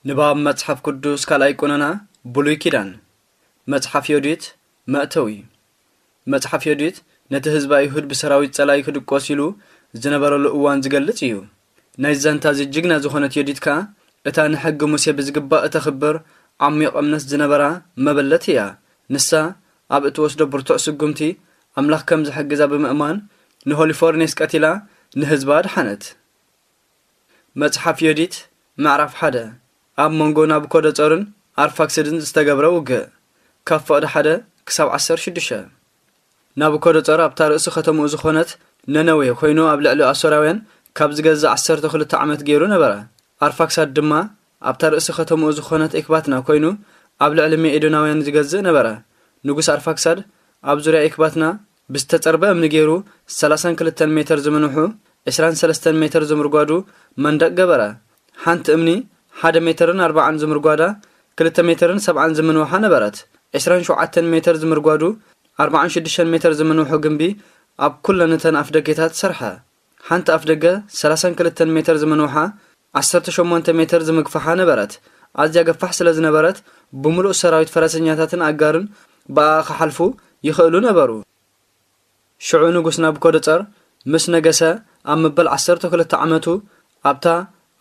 ንባብ መጽሓፍ ቅዱስ ካልኣይ ቁነና ብሉይ ኪዳን። መጽሓፍ ዮዲት መእተዊ። መጽሓፍ ዮዲት ነቲ ህዝቢ ኣይሁድ ብሰራዊት ጸላኢ ክድቆስ ኢሉ ዝነበረሉ እዋን ዝገልጽ እዩ። ናይ ዛንታ እዚ ጅግና ዝኾነት ዮዲት ከኣ እታ ንሕጊ ሙሴ ብዝግባእ እተኽብር ዓሚቕ እምነት ዝነበራ መበለት እያ። ንሳ ኣብ እትወስዶ ብርቱዕ ስጉምቲ ኣምላኽ ከም ዝሕግዛ ብምእማን ንሆሊፎርኔስ ቀቲላ ንህዝባ ኣድሓነት። መጽሓፍ ዮዲት ምዕራፍ ሓደ። ኣብ መንጎ ናቡኮደጾርን ኣርፋክስድን ዝተገብረ ውግእ። ካብ ፍቕዲ ሓደ ክሳብ ዓሰርተ ሽዱሽተ። ናቡኮደጾር ኣብታ ርእሲ ከተምኡ ዝኾነት ነነዌ ኮይኑ ኣብ ልዕሊ ኣሶራውያን ካብ ዝገዝእ ዓሰርተ ክልተ ዓመት ገይሩ ነበረ። ኣርፋክሳድ ድማ ኣብታ ርእሲ ከተምኡ ዝኾነት ኤክባትና ኮይኑ ኣብ ልዕሊ ሜኤዶናውያን ዝገዝእ ነበረ። ንጉስ ኣርፋክሳድ ኣብ ዙርያ ኤክባትና ብዝተጸርበ እምኒ ገይሩ ሰላሳን ክልተን ሜተር ዝምንውሑ፣ ዕስራን ሰለስተን ሜተር ዝምርጓዱ መንደቕ ገበረ። ሓንቲ እምኒ ሓደ ሜተርን ኣርባዓን ዝምርጓዳ፣ ክልተ ሜተርን ሰብዓን ዝምንውሓ ነበረት። ዕስራን ሸውዓተን ሜተር ዝምርጓዱ፣ ኣርባዓን ሽዱሽተን ሜተር ዝምንውሑ ግምቢ ኣብ ኩለን እተን ኣፍደጌታት ሰርሐ። ሓንቲ ኣፍደገ ሰላሳን ክልተን ሜተር ዝምንውሓ፣ ዓሰርተ ሸሞንተ ሜተር ዝምግፋሓ ነበረት። ኣዝያ ገፋሕ ስለ ዝነበረት፣ ብምሉእ ሰራዊት ፈረሰኛታትን ኣጋርን ብኣኣ ክሓልፉ ይኽእሉ ነበሩ። ሽዑ ንጉስ ናቡኮደጸር ምስ ነገሰ ኣብ መበል ዓሰርተ ክልተ ዓመቱ ኣብታ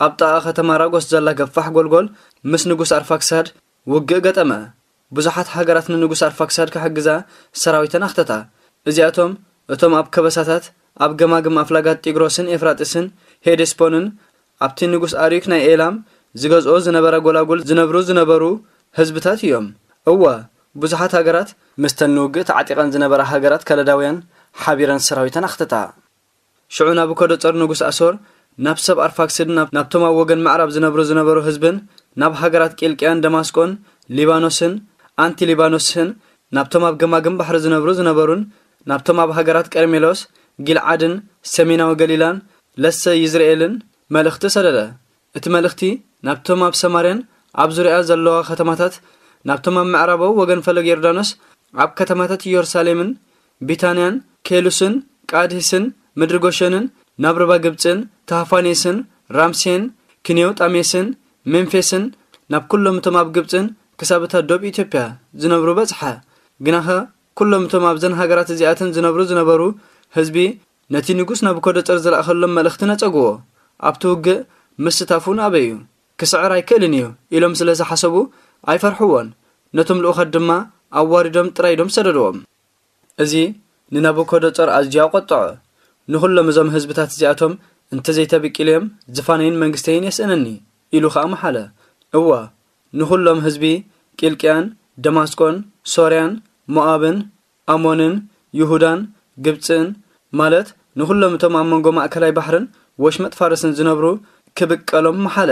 ኣብ ጥቓ ከተማ ራጎስ ዘላ ገፋሕ ጎልጎል ምስ ንጉስ ኣርፋክሳድ ውግእ ገጠመ። ብዙሓት ሃገራት ንንጉስ ኣርፋክሳድ ክሕግዛ ሰራዊተን ኣኽተታ። እዚኣቶም እቶም ኣብ ከበሳታት፣ ኣብ ገማግም ኣፍላጋት ጢግሮስን ኤፍራጥስን ሄዴስፖንን ኣብቲ ንጉስ ኣርዮክ ናይ ኤላም ዝገዝኦ ዝነበረ ጎላጉል ዝነብሩ ዝነበሩ ህዝብታት እዮም። እወ፣ ብዙሓት ሃገራት ምስተን ንውግእ ተዓጢቐን ዝነበራ ሃገራት ከለዳውያን ሓቢረን ሰራዊተን ኣኽተታ። ሽዑ ናቡኮደጾር ንጉስ ኣሶር ናብ ሰብ ኣርፋክስድን ናብ፣ ናብቶም ኣብ ወገን ምዕራብ ዝነብሩ ዝነበሩ ህዝብን ናብ ሃገራት ቂልቅያን ደማስቆን ሊባኖስን ኣንቲ ሊባኖስን ናብቶም ኣብ ገማግም ባሕሪ ዝነብሩ ዝነበሩን ናብቶም ኣብ ሃገራት ቀርሜሎስ፣ ጊልዓድን ሰሜናዊ ገሊላን ለሰ ይዝርኤልን መልእኽቲ ሰደደ። እቲ መልእኽቲ ናብቶም ኣብ ሰማርያን ኣብ ዙርያ ዘለዋ ከተማታት፣ ናብቶም ኣብ ምዕራባዊ ወገን ፈለግ ዮርዳኖስ ኣብ ከተማታት ኢየሩሳሌምን ቢታንያን ኬሉስን ቃድህስን ምድሪ ጎሸንን ናብ ርባ ግብጽን ታህፋኔስን ራምሴን ክኔውጣሜስን ሜምፌስን ናብ ኩሎም እቶም ኣብ ግብጽን ክሳብ እታ ዶብ ኢትዮጵያ ዝነብሩ በጽሐ። ግናኸ ኩሎም እቶም ኣብዘን ሃገራት እዚኣተን ዝነብሩ ዝነበሩ ህዝቢ ነቲ ንጉስ ናቡኮደጸር ዝለኣኸሎም መልእኽቲ ነጸግዎ። ኣብቲ ውግእ ምስታፉ ንኣበዩ ክስዕር ኣይክእልን እዩ ኢሎም ስለ ዝሓሰቡ ኣይፈርሕዎን። ነቶም ልኡኻት ድማ ኣዋሪዶም ጥራይ ዶም ሰደድዎም። እዚ ንናቡኮደጸር ኣዝዩ ኣቖጥዖ። ንኹሎም እዞም ህዝብታት እዚኣቶም እንተዘይተብቂለዮም ዝፋነይን መንግስተይን የስእነኒ ኢሉ ኸኣ መሓለ። እወ፣ ንኹሎም ህዝቢ ቂልቅያን ደማስቆን ሶርያን ሞኣብን ኣሞንን ይሁዳን ግብጽን፣ ማለት ንኹሎም እቶም ኣብ መንጎ ማእከላይ ባሕርን ወሽመጥ ፋርስን ዝነብሩ ክብቀሎም መሓለ።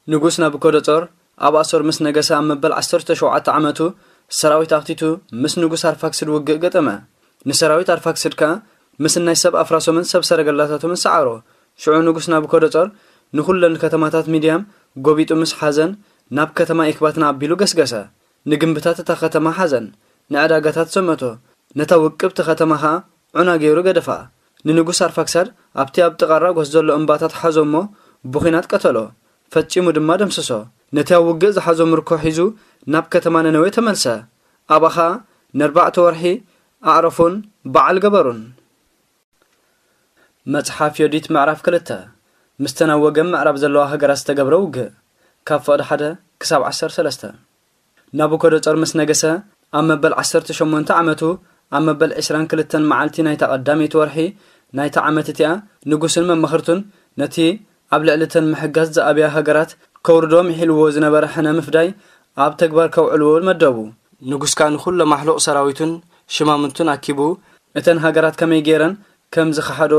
ንጉስ ናቡኮደጾር ኣብ ኣሶር ምስ ነገሰ ኣብ መበል ዓሰርተ ሸውዓተ ዓመቱ ሰራዊት ኣኽቲቱ ምስ ንጉስ ኣርፋክስድ ውግእ ገጠመ። ንሰራዊት ኣርፋክስድ ከኣ ምስ ናይ ሰብ ኣፍራሶምን ሰብ ሰረገላታቶምን ሰዓሮ። ሽዑ ንጉስ ናቡኮደጾር ንኹለን ከተማታት ሚድያም ጎቢጡ ምስ ሓዘን ናብ ከተማ ኤክባትና ኣቢሉ ገስገሰ። ንግምብታት እታ ከተማ ሓዘን፣ ንዕዳጋታት ዘመቶ፣ ነታ ውቅብቲ ከተማ ኸኣ ዑና ገይሩ ገደፋ። ንንጉስ ኣርፋክሳድ ኣብቲ ኣብ ጥቓ ራጎስ ዘሎ እምባታት ሓዞ እሞ ብኹናት ቀተሎ፣ ፈጺሙ ድማ ደምሰሶ። ነቲ ኣብ ውግእ ዝሓዞ ምርኮ ሒዙ ናብ ከተማ ነነዌ ተመልሰ። ኣብኣ ኸኣ ንኣርባዕተ ወርሒ ኣዕረፉን በዓል ገበሩን። መጽሓፍ ዮዲት ምዕራፍ ክልተ። ምስተን ኣብ ወገን ምዕራብ ዘለዋ ሃገራት ዝተገብረ ውግእ፣ ካብ ፍቕዲ ሓደ ክሳብ ዓሰርተ ሰለስተ። ናቡኮደጾር ምስ ነገሰ ኣብ መበል ዓሰርተ ሸሞንተ ዓመቱ፣ ኣብ መበል ዕስራን ክልተን መዓልቲ ናይታ ቀዳመይቲ ወርሒ ናይታ ዓመት እቲኣ፣ ንጉስን መማኽርቱን ነቲ ኣብ ልዕሊ እተን ምሕጋዝ ዝኣብያ ሃገራት ከውርዶ ምሒልዎ ዝነበረ ሕነ ምፍዳይ ኣብ ተግባር ከውዕልዎ መደቡ። ንጉስ ከኣ ንኹሎም ኣሕሉቕ ሰራዊቱን ሽማምንቱን ኣኪቡ፣ እተን ሃገራት ከመይ ገይረን ከም ዝኸሓዶ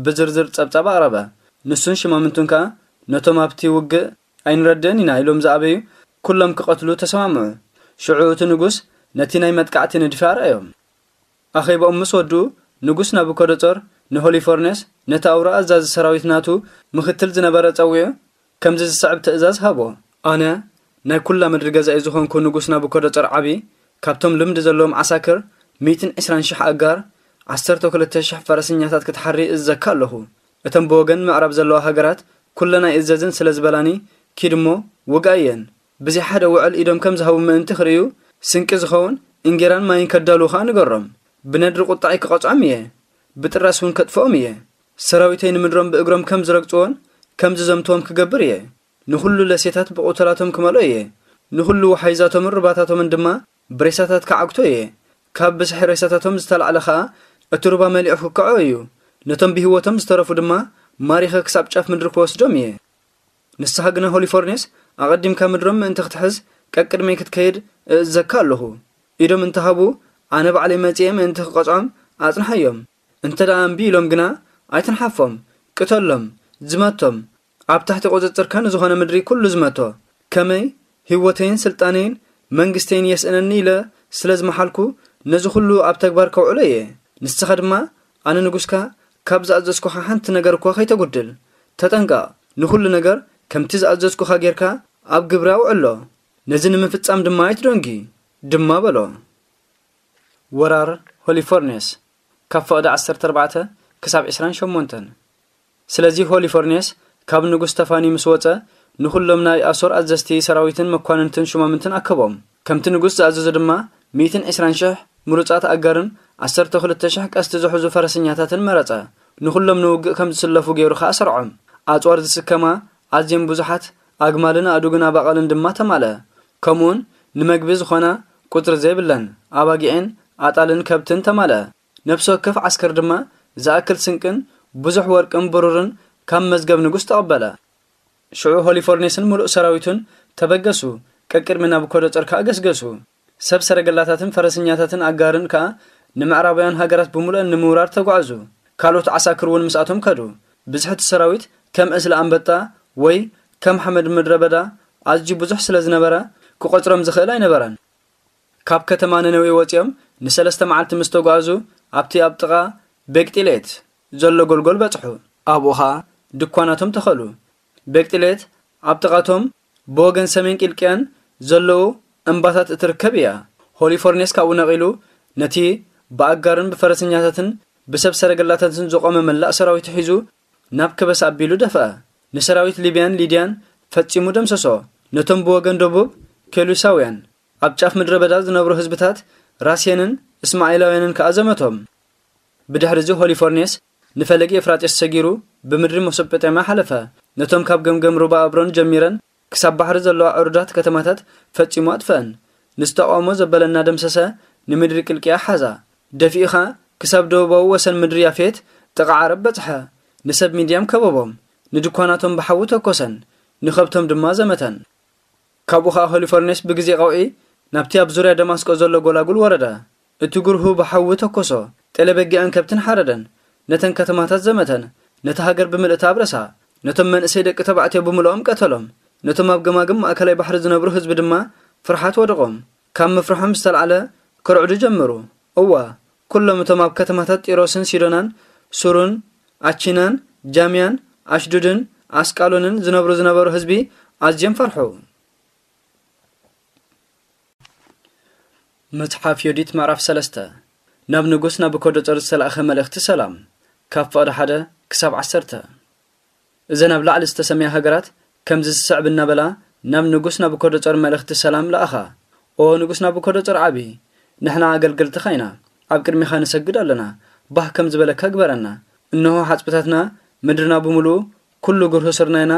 ብዝርዝር ጸብጻብ ኣቕረበ። ንሱን ሽማምንቱን ከኣ ነቶም ኣብቲ ውግእ ኣይንረድእን ኢና ኢሎም ዝኣበዩ ኩሎም ክቐትሉ ተሰማምዑ። ሽዑ እቲ ንጉስ ነቲ ናይ መጥቃዕቲ ንድፊ ኣርኣዮም። ኣኼባኦም ምስ ወድኡ፣ ንጉስ ናቡኮደጾር ንሆሊፎርኔስ፣ ነቲ ኣውራ ኣዛዚ ሰራዊት ናቱ ምኽትል ዝነበረ ጸዊዑ፣ ከምዚ ዝስዕብ ትእዛዝ ሃቦ። ኣነ፣ ናይ ኩላ ምድሪ ገዛኢ ዝኾንኩ ንጉስ ናቡኮደጾር ዓቢ፣ ካብቶም ልምዲ ዘለዎም ዓሳክር፣ ሚእትን ዕስራን ሽሕ ኣጋር፣ ዓሰርተ ክልተ ሽሕ ፈረሰኛታት ክትሓሪ እዘካ ኣለኹ። እተን ብወገን ምዕራብ ዘለዋ ሃገራት፣ ኩለናይ እዘዝን ስለ ዝበላኒ፣ ኪድ እሞ ውግኣየን። ብዘይ ሓደ ውዕል ኢዶም ከም ዝሃቡ ምእንቲ ክርእዩ፣ ስንቂ ዝኸውን እንጌራን ማይን ከዳልዉ ኸኣ ንገሮም። ብነድሪ ቁጣዐይ ክቐጽዖም እየ፣ ብጥራስ እውን ከጥፍኦም እየ። ሰራዊተይ ንምድሮም ብእግሮም ከም ዝረግጽዎን ከም ዝዘምትዎም ክገብር እየ። ንኹሉ ለሴታት ብቑተላቶም ክመልኦ እየ። ንኹሉ ወሓይዛቶምን ሩባታቶምን ድማ ብሬሳታት ክዓግቶ እየ። ካብ ብዝሒ ሬሳታቶም ዝተላዕለ ኸኣ እቲ ሩባ መሊኡ ክክዖ እዩ። ነቶም ብህይወቶም ዝተረፉ ድማ ማሪኸ ክሳብ ጫፍ ምድሪ ክወስዶም እየ። ንስኻ ግና ሆሊፎርኔስ፣ ኣቐዲምካ ምድሮም ምእንቲ ክትሕዝ ቀቅድመይ ክትከይድ እእዝዘካ ኣለኹ። ኢዶም እንተሃቡ፣ ኣነ ባዕለይ መጺኤ ምእንቲ ክቐጽዖም ኣጽንሓዮም። እንተ ደኣ እምቢ ኢሎም ግና፣ ኣይትንሓፎም፣ ቅተሎም፣ ዝመቶም። ኣብ ትሕቲ ቁጽጽርካ ንዝኾነ ምድሪ ኩሉ ዝመቶ። ከመይ ህይወተይን ስልጣነይን መንግስተይን የስእነኒ ኢለ ስለ ዝመሓልኩ፣ ነዚ ኩሉ ኣብ ተግባር ከውዕሎ እየ። ንስኻ ድማ፣ ኣነ ንጉስካ፣ ካብ ዝኣዘዝኩኻ ሓንቲ ነገር እኳ ከይተጉድል። ተጠንቀቕ፣ ንኹሉ ነገር ከምቲ ዝኣዘዝኩኻ ጌርካ ኣብ ግብሪ ኣውዕሎ። ነዚ ንምፍጻም ድማ ኣይትደንጊ፣ ድማ በሎ። ወራር ሆሊፎርኔስ፣ ካብ ፈቐዶ ዓሰርተ ኣርባዕተ ክሳብ ዕስራን ሸሞንተን። ስለዚ ሆሊፎርኔስ ካብ ንጉስ ተፋኒ ምስ ወጸ፣ ንኹሎም ናይ ኣሶር ኣዘዝቲ ሰራዊትን መኳንንትን ሹማምንትን ኣከቦም። ከምቲ ንጉስ ዝኣዘዞ ድማ፣ ሚእትን ዕስራን ሽሕ ምሩጻት ኣጋርን ዓሰርተ ክልተ ሽሕ ቀስቲ ዝሕዙ ፈረሰኛታትን መረጸ። ንኹሎም ንውግእ ከም ዝስለፉ ገይሩ ኸኣ ሰርዖም። ኣጽዋር ዝስከማ ኣዝየን ብዙሓት ኣግማልን ኣእዱግን ኣባቕልን ድማ ተማልአ። ከምኡውን ንመግቢ ዝኾና ቁጽሪ ዘይብለን ኣባጊዕን ኣጣልን ከብትን ተማልአ። ነፍሲ ወከፍ ዓስከር ድማ ዝኣክል ስንቅን ብዙሕ ወርቅን ብሩርን ካብ መዝገብ ንጉስ ተቐበለ። ሽዑ ሆሊፎርኔስን ምሉእ ሰራዊቱን ተበገሱ፣ ቀቅድሚ ናቡኮዶጸር ከኣ ገስገሱ። ሰብ ሰረገላታትን ፈረሰኛታትን ኣጋርን ከኣ ንምዕራባውያን ሃገራት ብምሉአን ንምውራር ተጓዕዙ። ካልኦት ዓሳክር እውን ምስኣቶም ከዱ። ብዝሒ እቲ ሰራዊት ከም ዕስለ ኣንበጣ ወይ ከም ሓመድ ምድረ በዳ ኣዝዩ ብዙሕ ስለ ዝነበረ፣ ክቖጽሮም ዝኽእል ኣይነበረን። ካብ ከተማ ነነዌ ወጺኦም ንሰለስተ መዓልቲ ምስ ተጓዕዙ፣ ኣብቲ ኣብ ጥቓ ቤቅጢሌት ዘሎ ጎልጎል በጽሑ። ኣብኡ ኸኣ ድኳናቶም ተኸሉ። ቤቅጢሌት ኣብ ጥቓቶም ብወገን ሰሜን ቂልቅያን ዘለዉ እምባታት እትርከብ እያ። ሆሊፎርኔስ ካብኡ ነቒሉ፣ ነቲ ብኣጋርን ብፈረሰኛታትን ብሰብ ሰረገላታትን ዝቖመ መላእ ሰራዊቱ ሒዙ ናብ ከበሳ ኣቢሉ ደፍአ። ንሰራዊት ሊብያን ሊድያን ፈጺሙ ደምሰሶ። ነቶም ብወገን ደቡብ ኬሉሳውያን ኣብ ጫፍ ምድረ በዳ ዝነብሩ ህዝብታት ራስየንን እስማኤላውያንን ከኣ ዘመቶም። ብድሕሪ እዚ ሆሊፎርኔስ ንፈለግ ኤፍራጤስ ሰጊሩ ብምድሪ መሶጶጣምያ ሓለፈ። ነቶም ካብ ገምገም ሩባ ኣብሮን ጀሚረን ክሳብ ባሕሪ ዘለዋ ዕሩዳት ከተማታት ፈጺሙ ኣጥፍአን። ንዝተቓውሞ ዘበለ እናደምሰሰ ንምድሪ ቅልቅያ ሓዛ። ደፊኡ ኸኣ ክሳብ ደቡባዊ ወሰን ምድሪ ያፌት ጥቓ ዓረብ በጽሐ። ንሰብ ሚድያም ከበቦም። ንድኳናቶም ብሓዊ ተኮሰን። ንኸብቶም ድማ ዘመተን። ካብኡ ኸኣ ሆሊፎርኔስ ብግዜ ቀውዒ ናብቲ ኣብ ዙርያ ደማስቆ ዘሎ ጎላጉል ወረደ። እቲ ግርሁ ብሓዊ ተኮሶ፣ ጤለ በጊዕን ከብትን ሓረደን፣ ነተን ከተማታት ዘመተን፣ ነታ ሃገር ብምልእታ ኣብረሳ። ነቶም መንእሰይ ደቂ ተባዕትዮ ብምልኦም ቀተሎም። ነቶም ኣብ ገማግም ማእከላይ ባሕሪ ዝነብሩ ህዝቢ ድማ ፍርሓት ወደቖም። ካብ ምፍርሖም ዝተላዕለ ክርዕዱ ጀመሩ። እዋ፣ ኩሎም እቶም ኣብ ከተማታት ጢሮስን ሲዶናን፣ ሱሩን፣ ኣቺናን፣ ጃምያን፣ ኣሽዱድን፣ ኣስቃሎንን ዝነብሩ ዝነበሩ ህዝቢ ኣዝዮም ፈርሑ። መጽሓፍ ዮዲት ምዕራፍ ሰለስተ። ናብ ንጉስ ናቡኮዶጸር ዝተላእኸ መልእኽቲ ሰላም፣ ካብ ፍቕዲ ሓደ ክሳብ ዓሰርተ። እዘን ኣብ ላዕሊ ዝተሰምያ ሃገራት ከምዚ ዝስዕብ እናበላ ናብ ንጉስ ናቡኮዶጸር መልእኽቲ ሰላም ለኣኻ። ኦ ንጉስ ናቡኮዶጸር ዓቢ፣ ንሕና ኣገልገልትኻ ኢና፣ ኣብ ቅድሚኻ ንሰግድ ኣለና፣ ባህ ከም ዝበለካ ግበረና። እንሆ ሓጽብታትና፣ ምድርና ብምሉኡ፣ ኩሉ ግርሁ ስርናይና፣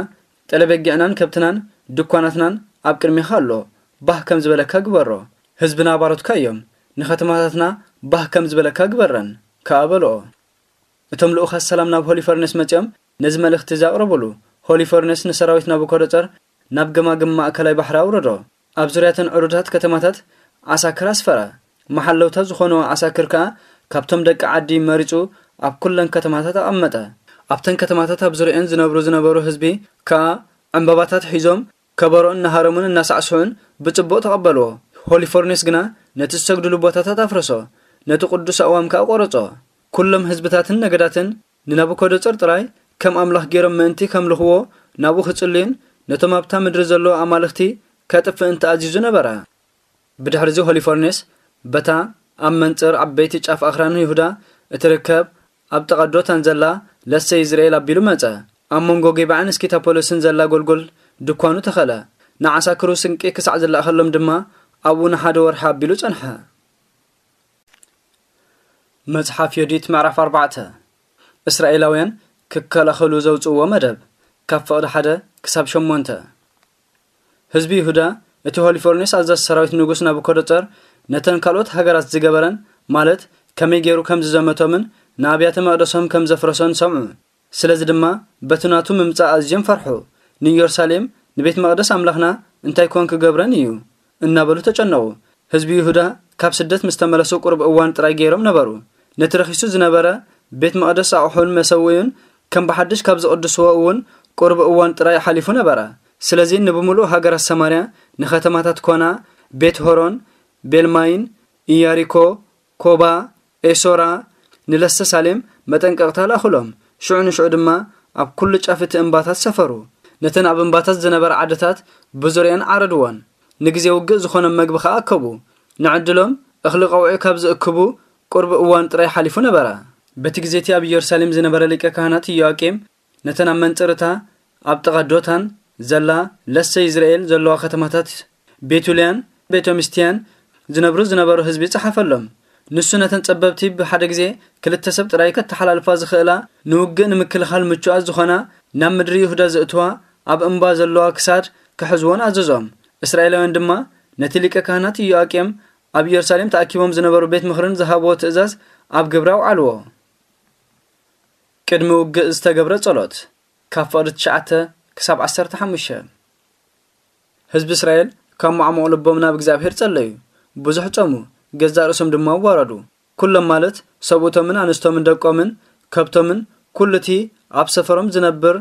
ጠለበጊዕናን ከብትናን ድኳናትናን ኣብ ቅድሚኻ ኣሎ፣ ባህ ከም ዝበለካ ግበሮ። ህዝብና ባሮትካ እዮም፣ ንኸተማታትና ባህ ከም ዝበለካ ግበረን፣ ከኣ በልኦ። እቶም ልኡኻት ሰላም ናብ ሆሊፈርኔስ መጺኦም ነዚ መልእኽቲ እዚ ኣቕረቡሉ። ሆሊፈርኔስ ንሰራዊት ናቡኮዶጸር ናብ ገማግም ማእከላይ ባሕሪ ኣውረዶ። ኣብ ዙርያተን ዕሩዳት ከተማታት ዓሳክር ኣስፈረ። መሓለውታ ዝኾኑ ዓሳክር ከኣ ካብቶም ደቂ ዓዲ መሪጹ ኣብ ኩለን ከተማታት ኣቐመጠ። ኣብተን ከተማታት ኣብ ዙርያኤን ዝነብሩ ዝነበሩ ህዝቢ ከኣ ዕምባባታት ሒዞም ከበሮ እናሃረሙን እናሳዕስዑን ብጽቡቕ ተቐበልዎ። ሆሊፎርኔስ ግና ነቲ ዝሰግድሉ ቦታታት ኣፍረሶ፣ ነቲ ቅዱስ ኣእዋም ከኣ ቈረጾ። ኩሎም ህዝብታትን ነገዳትን ንናቡኮዶጸር ጥራይ ከም ኣምላኽ ገይሮም ምእንቲ ከምልኽዎ ናብኡ ክጽልዩን ነቶም ኣብታ ምድሪ ዘለዉ ኣማልኽቲ ከጥፍእን ተኣዚዙ ነበረ። ብድሕሪዚ ሆሊፎርኔስ በታ ኣብ መንጽር ዓበይቲ ጫፍ ኣኽራን ይሁዳ እትርከብ ኣብ ጥቓ ዶታን ዘላ ለሰ ይዝርኤል ኣቢሉ መጸ። ኣብ መንጎ ጌባዕን እስኪታፖለስን ዘላ ጎልጎል ድኳኑ ተኸለ። ንዓሳክሩ ስንቂ ክሳዕ ዝለኣኸሎም ድማ ኣብኡ ንሓደ ወርሒ ኣቢሉ ጸንሐ። መጽሓፍ ዮዲት ምዕራፍ ኣርባዕተ። እስራኤላውያን ክከላኸሉ ዘውጽእዎ መደብ፣ ካብ ፍቕዲ ሓደ ክሳብ ሸሞንተ። ህዝቢ ይሁዳ፣ እቲ ሆሊፎርኔስ ኣዛዚ ሰራዊት ንጉስ ናቡኮደጸር ነተን ካልኦት ሃገራት ዝገበረን፣ ማለት ከመይ ገይሩ ከም ዝዘመቶምን ንኣብያተ መቕደሶም ከም ዘፍረሶን ሰምዑ። ስለዚ ድማ በቲ ናቱ ምምጻእ ኣዝዮም ፈርሑ። ንኢየሩሳሌም፣ ንቤት መቕደስ ኣምላኽና እንታይ ኮን ክገብረን እዩ? እናበሉ ተጨነቑ። ህዝቢ ይሁዳ ካብ ስደት ምስ ተመለሱ ቁሩብ እዋን ጥራይ ገይሮም ነበሩ። ነቲ ረኺሱ ዝነበረ ቤት መቕደስ ኣቑሑን መሰውእዩን ከም ብሓድሽ ካብ ዝቕድስዎ እውን ቁሩብ እዋን ጥራይ ሓሊፉ ነበረ። ስለዚ ንብምሉእ ሃገራት ሰማርያ፣ ንኸተማታት ኮና፣ ቤት ሆሮን፣ ቤልማይን፣ ኢያሪኮ፣ ኮባ፣ ኤሶራ፣ ንለሰ ሳሌም መጠንቀቕታ ለኣኹሎም። ሽዑ ንሽዑ ድማ ኣብ ኩሉ ጫፍ እቲ እምባታት ሰፈሩ። ነተን ኣብ እምባታት ዝነበራ ዓድታት ብዙርየን ዓረድወን። ንግዜ ውግእ ዝኾኖም መግቢ ኸኣ ኣከቡ። ንዕድሎም እኽሊ ቀውዒ ካብ ዝእክቡ ቁርብ እዋን ጥራይ ሓሊፉ ነበረ። በቲ ግዜ እቲ ኣብ ኢየሩሳሌም ዝነበረ ሊቀ ካህናት ኢዮኣቄም ነተን ኣብ መንጽርታ ኣብ ጥቓ ዶታን ዘላ ለሰ ይዝርኤል ዘለዋ ከተማታት ቤቱልያን ቤቶምስትያን ዝነብሩ ዝነበሩ ህዝቢ ጸሓፈሎም። ንሱ ነተን ጸበብቲ ብሓደ ግዜ ክልተ ሰብ ጥራይ ከተሓላልፋ ዝኽእላ ንውግእ ንምክልኻል ምቹኣት ዝኾና ናብ ምድሪ ይሁዳ ዝእትዋ ኣብ እምባ ዘለዋ ክሳድ ክሕዝዎን ኣዘዞም። እስራኤላውያን ድማ ነቲ ሊቀ ካህናት ኢዮኣቄም ኣብ ኢየሩሳሌም ተኣኪቦም ዝነበሩ ቤት ምኽርን ዝሃብዎ ትእዛዝ ኣብ ግብሪ ኣውዓልዎ። ቅድሚ ውግእ ዝተገብረ ጸሎት፣ ካብ ፍቕዲ ትሽዓተ ክሳብ ዓሰርተ ሓሙሽተ። ህዝቢ እስራኤል ካብ ማዕሙቕ ልቦም ናብ እግዚኣብሔር ጸለዩ፣ ብዙሕ ጾሙ፣ ገዛእ ርእሶም ድማ ኣዋረዱ። ኩሎም ማለት ሰብኡቶምን ኣንስቶምን ደቆምን ከብቶምን ኩሉ እቲ ኣብ ሰፈሮም ዝነብር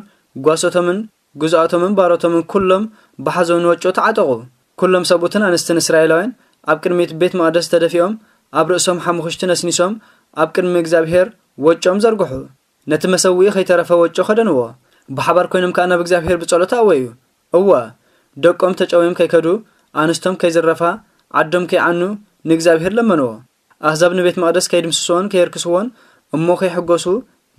ጓሶቶምን ግዝኣቶምን ባሮቶምን ኩሎም ብሓዘን ወጮ ተዓጠቑ። ኩሎም ሰብኡትን ኣንስትን እስራኤላውያን ኣብ ቅድሚት ቤት መቕደስ ተደፊኦም ኣብ ርእሶም ሓሙኽሽቲ ነስኒሶም ኣብ ቅድሚ እግዚኣብሔር ወጮም ዘርግሑ። ነቲ መሰውኢ ኸይተረፈ ወጮ ኸደንዎ። ብሓባር ኮይኖም ከኣ ናብ እግዚኣብሔር ብጸሎት ኣወዩ። እወ፣ ደቆም ተጨውዮም ከይከዱ፣ ኣንስቶም ከይዝረፋ፣ ዓዶም ከይዓኑ ንእግዚኣብሔር ለመንዎ። ኣህዛብ ንቤት መቕደስ ከይድምስስዎን ከየርክስዎን እሞ ከይሕጎሱ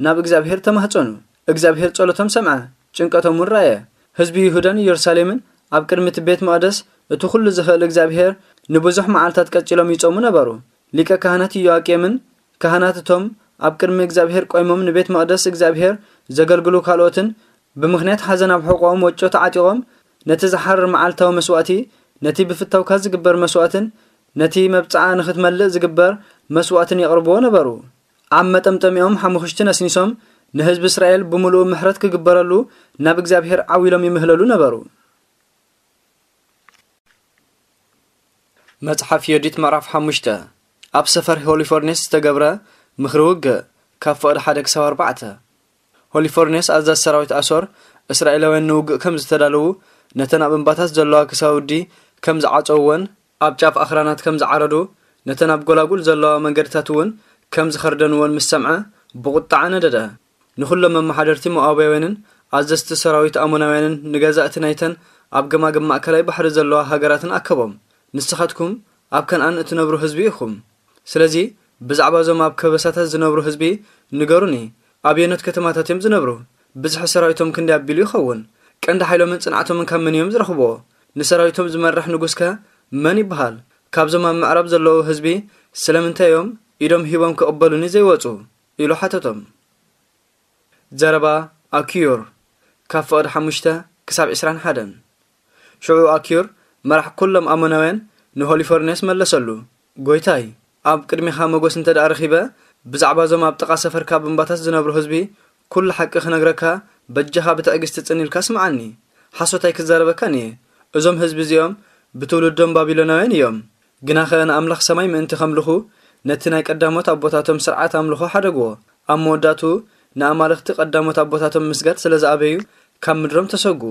ናብ እግዚኣብሔር ተማህጸኑ። እግዚኣብሔር ጸሎቶም ሰምዐ፣ ጭንቀቶም እውን ረኣየ። ህዝቢ ይሁዳን ኢየሩሳሌምን ኣብ ቅድሚ እቲ ቤት መቕደስ እቲ ኩሉ ዝኽእል እግዚኣብሔር ንብዙሕ መዓልታት ቀጺሎም ይጾሙ ነበሩ። ሊቀ ካህናት ኢዮኣቄምን ካህናት እቶም ኣብ ቅድሚ እግዚኣብሔር ቆይሞም ንቤት መቕደስ እግዚኣብሔር ዘገልግሉ ካልኦትን ብምኽንያት ሓዘን ኣብ ሕቖኦም ወጮ ተዓጢቖም ነቲ ዝሓርር መዓልታዊ መስዋእቲ፣ ነቲ ብፍታውካ ዝግበር መስዋእትን ነቲ መብጽዓ ንኽትመልእ ዝግበር መስዋእትን የቕርብዎ ነበሩ። ኣብ መጠምጠሚኦም ሓሙኽሽቲ ነስኒሶም ንህዝቢ እስራኤል ብምሉኡ ምሕረት ክግበረሉ ናብ እግዚኣብሔር ዓው ኢሎም ይምህለሉ ነበሩ። መጽሓፍ ዮዲት ምዕራፍ ሓሙሽተ። ኣብ ሰፈር ሆሊፎርኔስ ዝተገብረ ምኽሪ ውግእ፣ ካብ ፍቕዲ ሓደ ክሳብ ኣርባዕተ። ሆሊፎርኔስ ኣዛዚ ሰራዊት ኣሶር፣ እስራኤላውያን ንውግእ ከም ዝተዳለዉ፣ ነተን ኣብ እምባታት ዘለዋ ክሳውዲ ከም ዝዓጸውወን፣ ኣብ ጫፍ ኣኽራናት ከም ዝዓረዱ፣ ነተን ኣብ ጎላጉል ዘለዋ መንገድታት እውን ከም ዝኸርደንወን ምስ ሰምዐ፣ ብቑጥዓ ነደደ። ንኹሎም መመሓደርቲ ሞኣባውያንን ኣዘዝቲ ሰራዊት ኣሞናውያንን ንገዛእቲ ናይተን ኣብ ገማግም ማእከላይ ባሕሪ ዘለዋ ሃገራትን ኣከቦም። ንስኻትኩም ኣብ ከነኣን እትነብሩ ህዝቢ ኢኹም። ስለዚ ብዛዕባ እዞም ኣብ ከበሳታት ዝነብሩ ህዝቢ ንገሩኒ። ኣበየኖት ከተማታት እዮም ዝነብሩ? ብዝሒ ሰራዊቶም ክንደይ ኣቢሉ ይኸውን? ቀንዲ ሓይሎምን ጽንዓቶምን ካብ መን እዮም ዝረኽብዎ? ንሰራዊቶም ዝመርሕ ንጉስከ መን ይበሃል? ካብዞም ኣብ ምዕራብ ዘለዉ ህዝቢ ስለምንታይ እዮም ኢዶም ሂቦም ክቕበሉኒ ዘይወጹ? ኢሉ ሓተቶም። ዘረባ ኣኪዩር፣ ካብ ፍቕዲ ሓሙሽተ ክሳብ ዕስራን ሓደን። ሽዑ ኣኪዩር መራሕ ኩሎም ኣሞናውያን ንሆሊፎርኔስ መለሰሉ፣ "ጐይታይ፣ ኣብ ቅድሜኻ መጎስ እንተ ደኣ ረኺበ፣ ብዛዕባ እዞም ኣብ ጥቓ ሰፈርካ ኣብ እምባታት ዝነብሩ ህዝቢ ኩሉ ሓቂ ክነግረካ በጃኻ ብትዕግስቲ ጽን ኢልካ ስምዓኒ። ሓሶት ኣይክዛረበካን እየ። እዞም ህዝቢ እዚኦም ብትውልዶም ባቢሎናውያን እዮም። ግናኸ ንኣምላኽ ሰማይ ምእንቲ ከምልኹ ነቲ ናይ ቀዳሞት ኣቦታቶም ስርዓት ኣምልኾ ሓደግዎ። ኣብ መወዳእቱ ንኣማልኽቲ ቀዳሞት ኣቦታቶም ምስጋድ ስለ ዝኣበዩ ካብ ምድሮም ተሰጉ።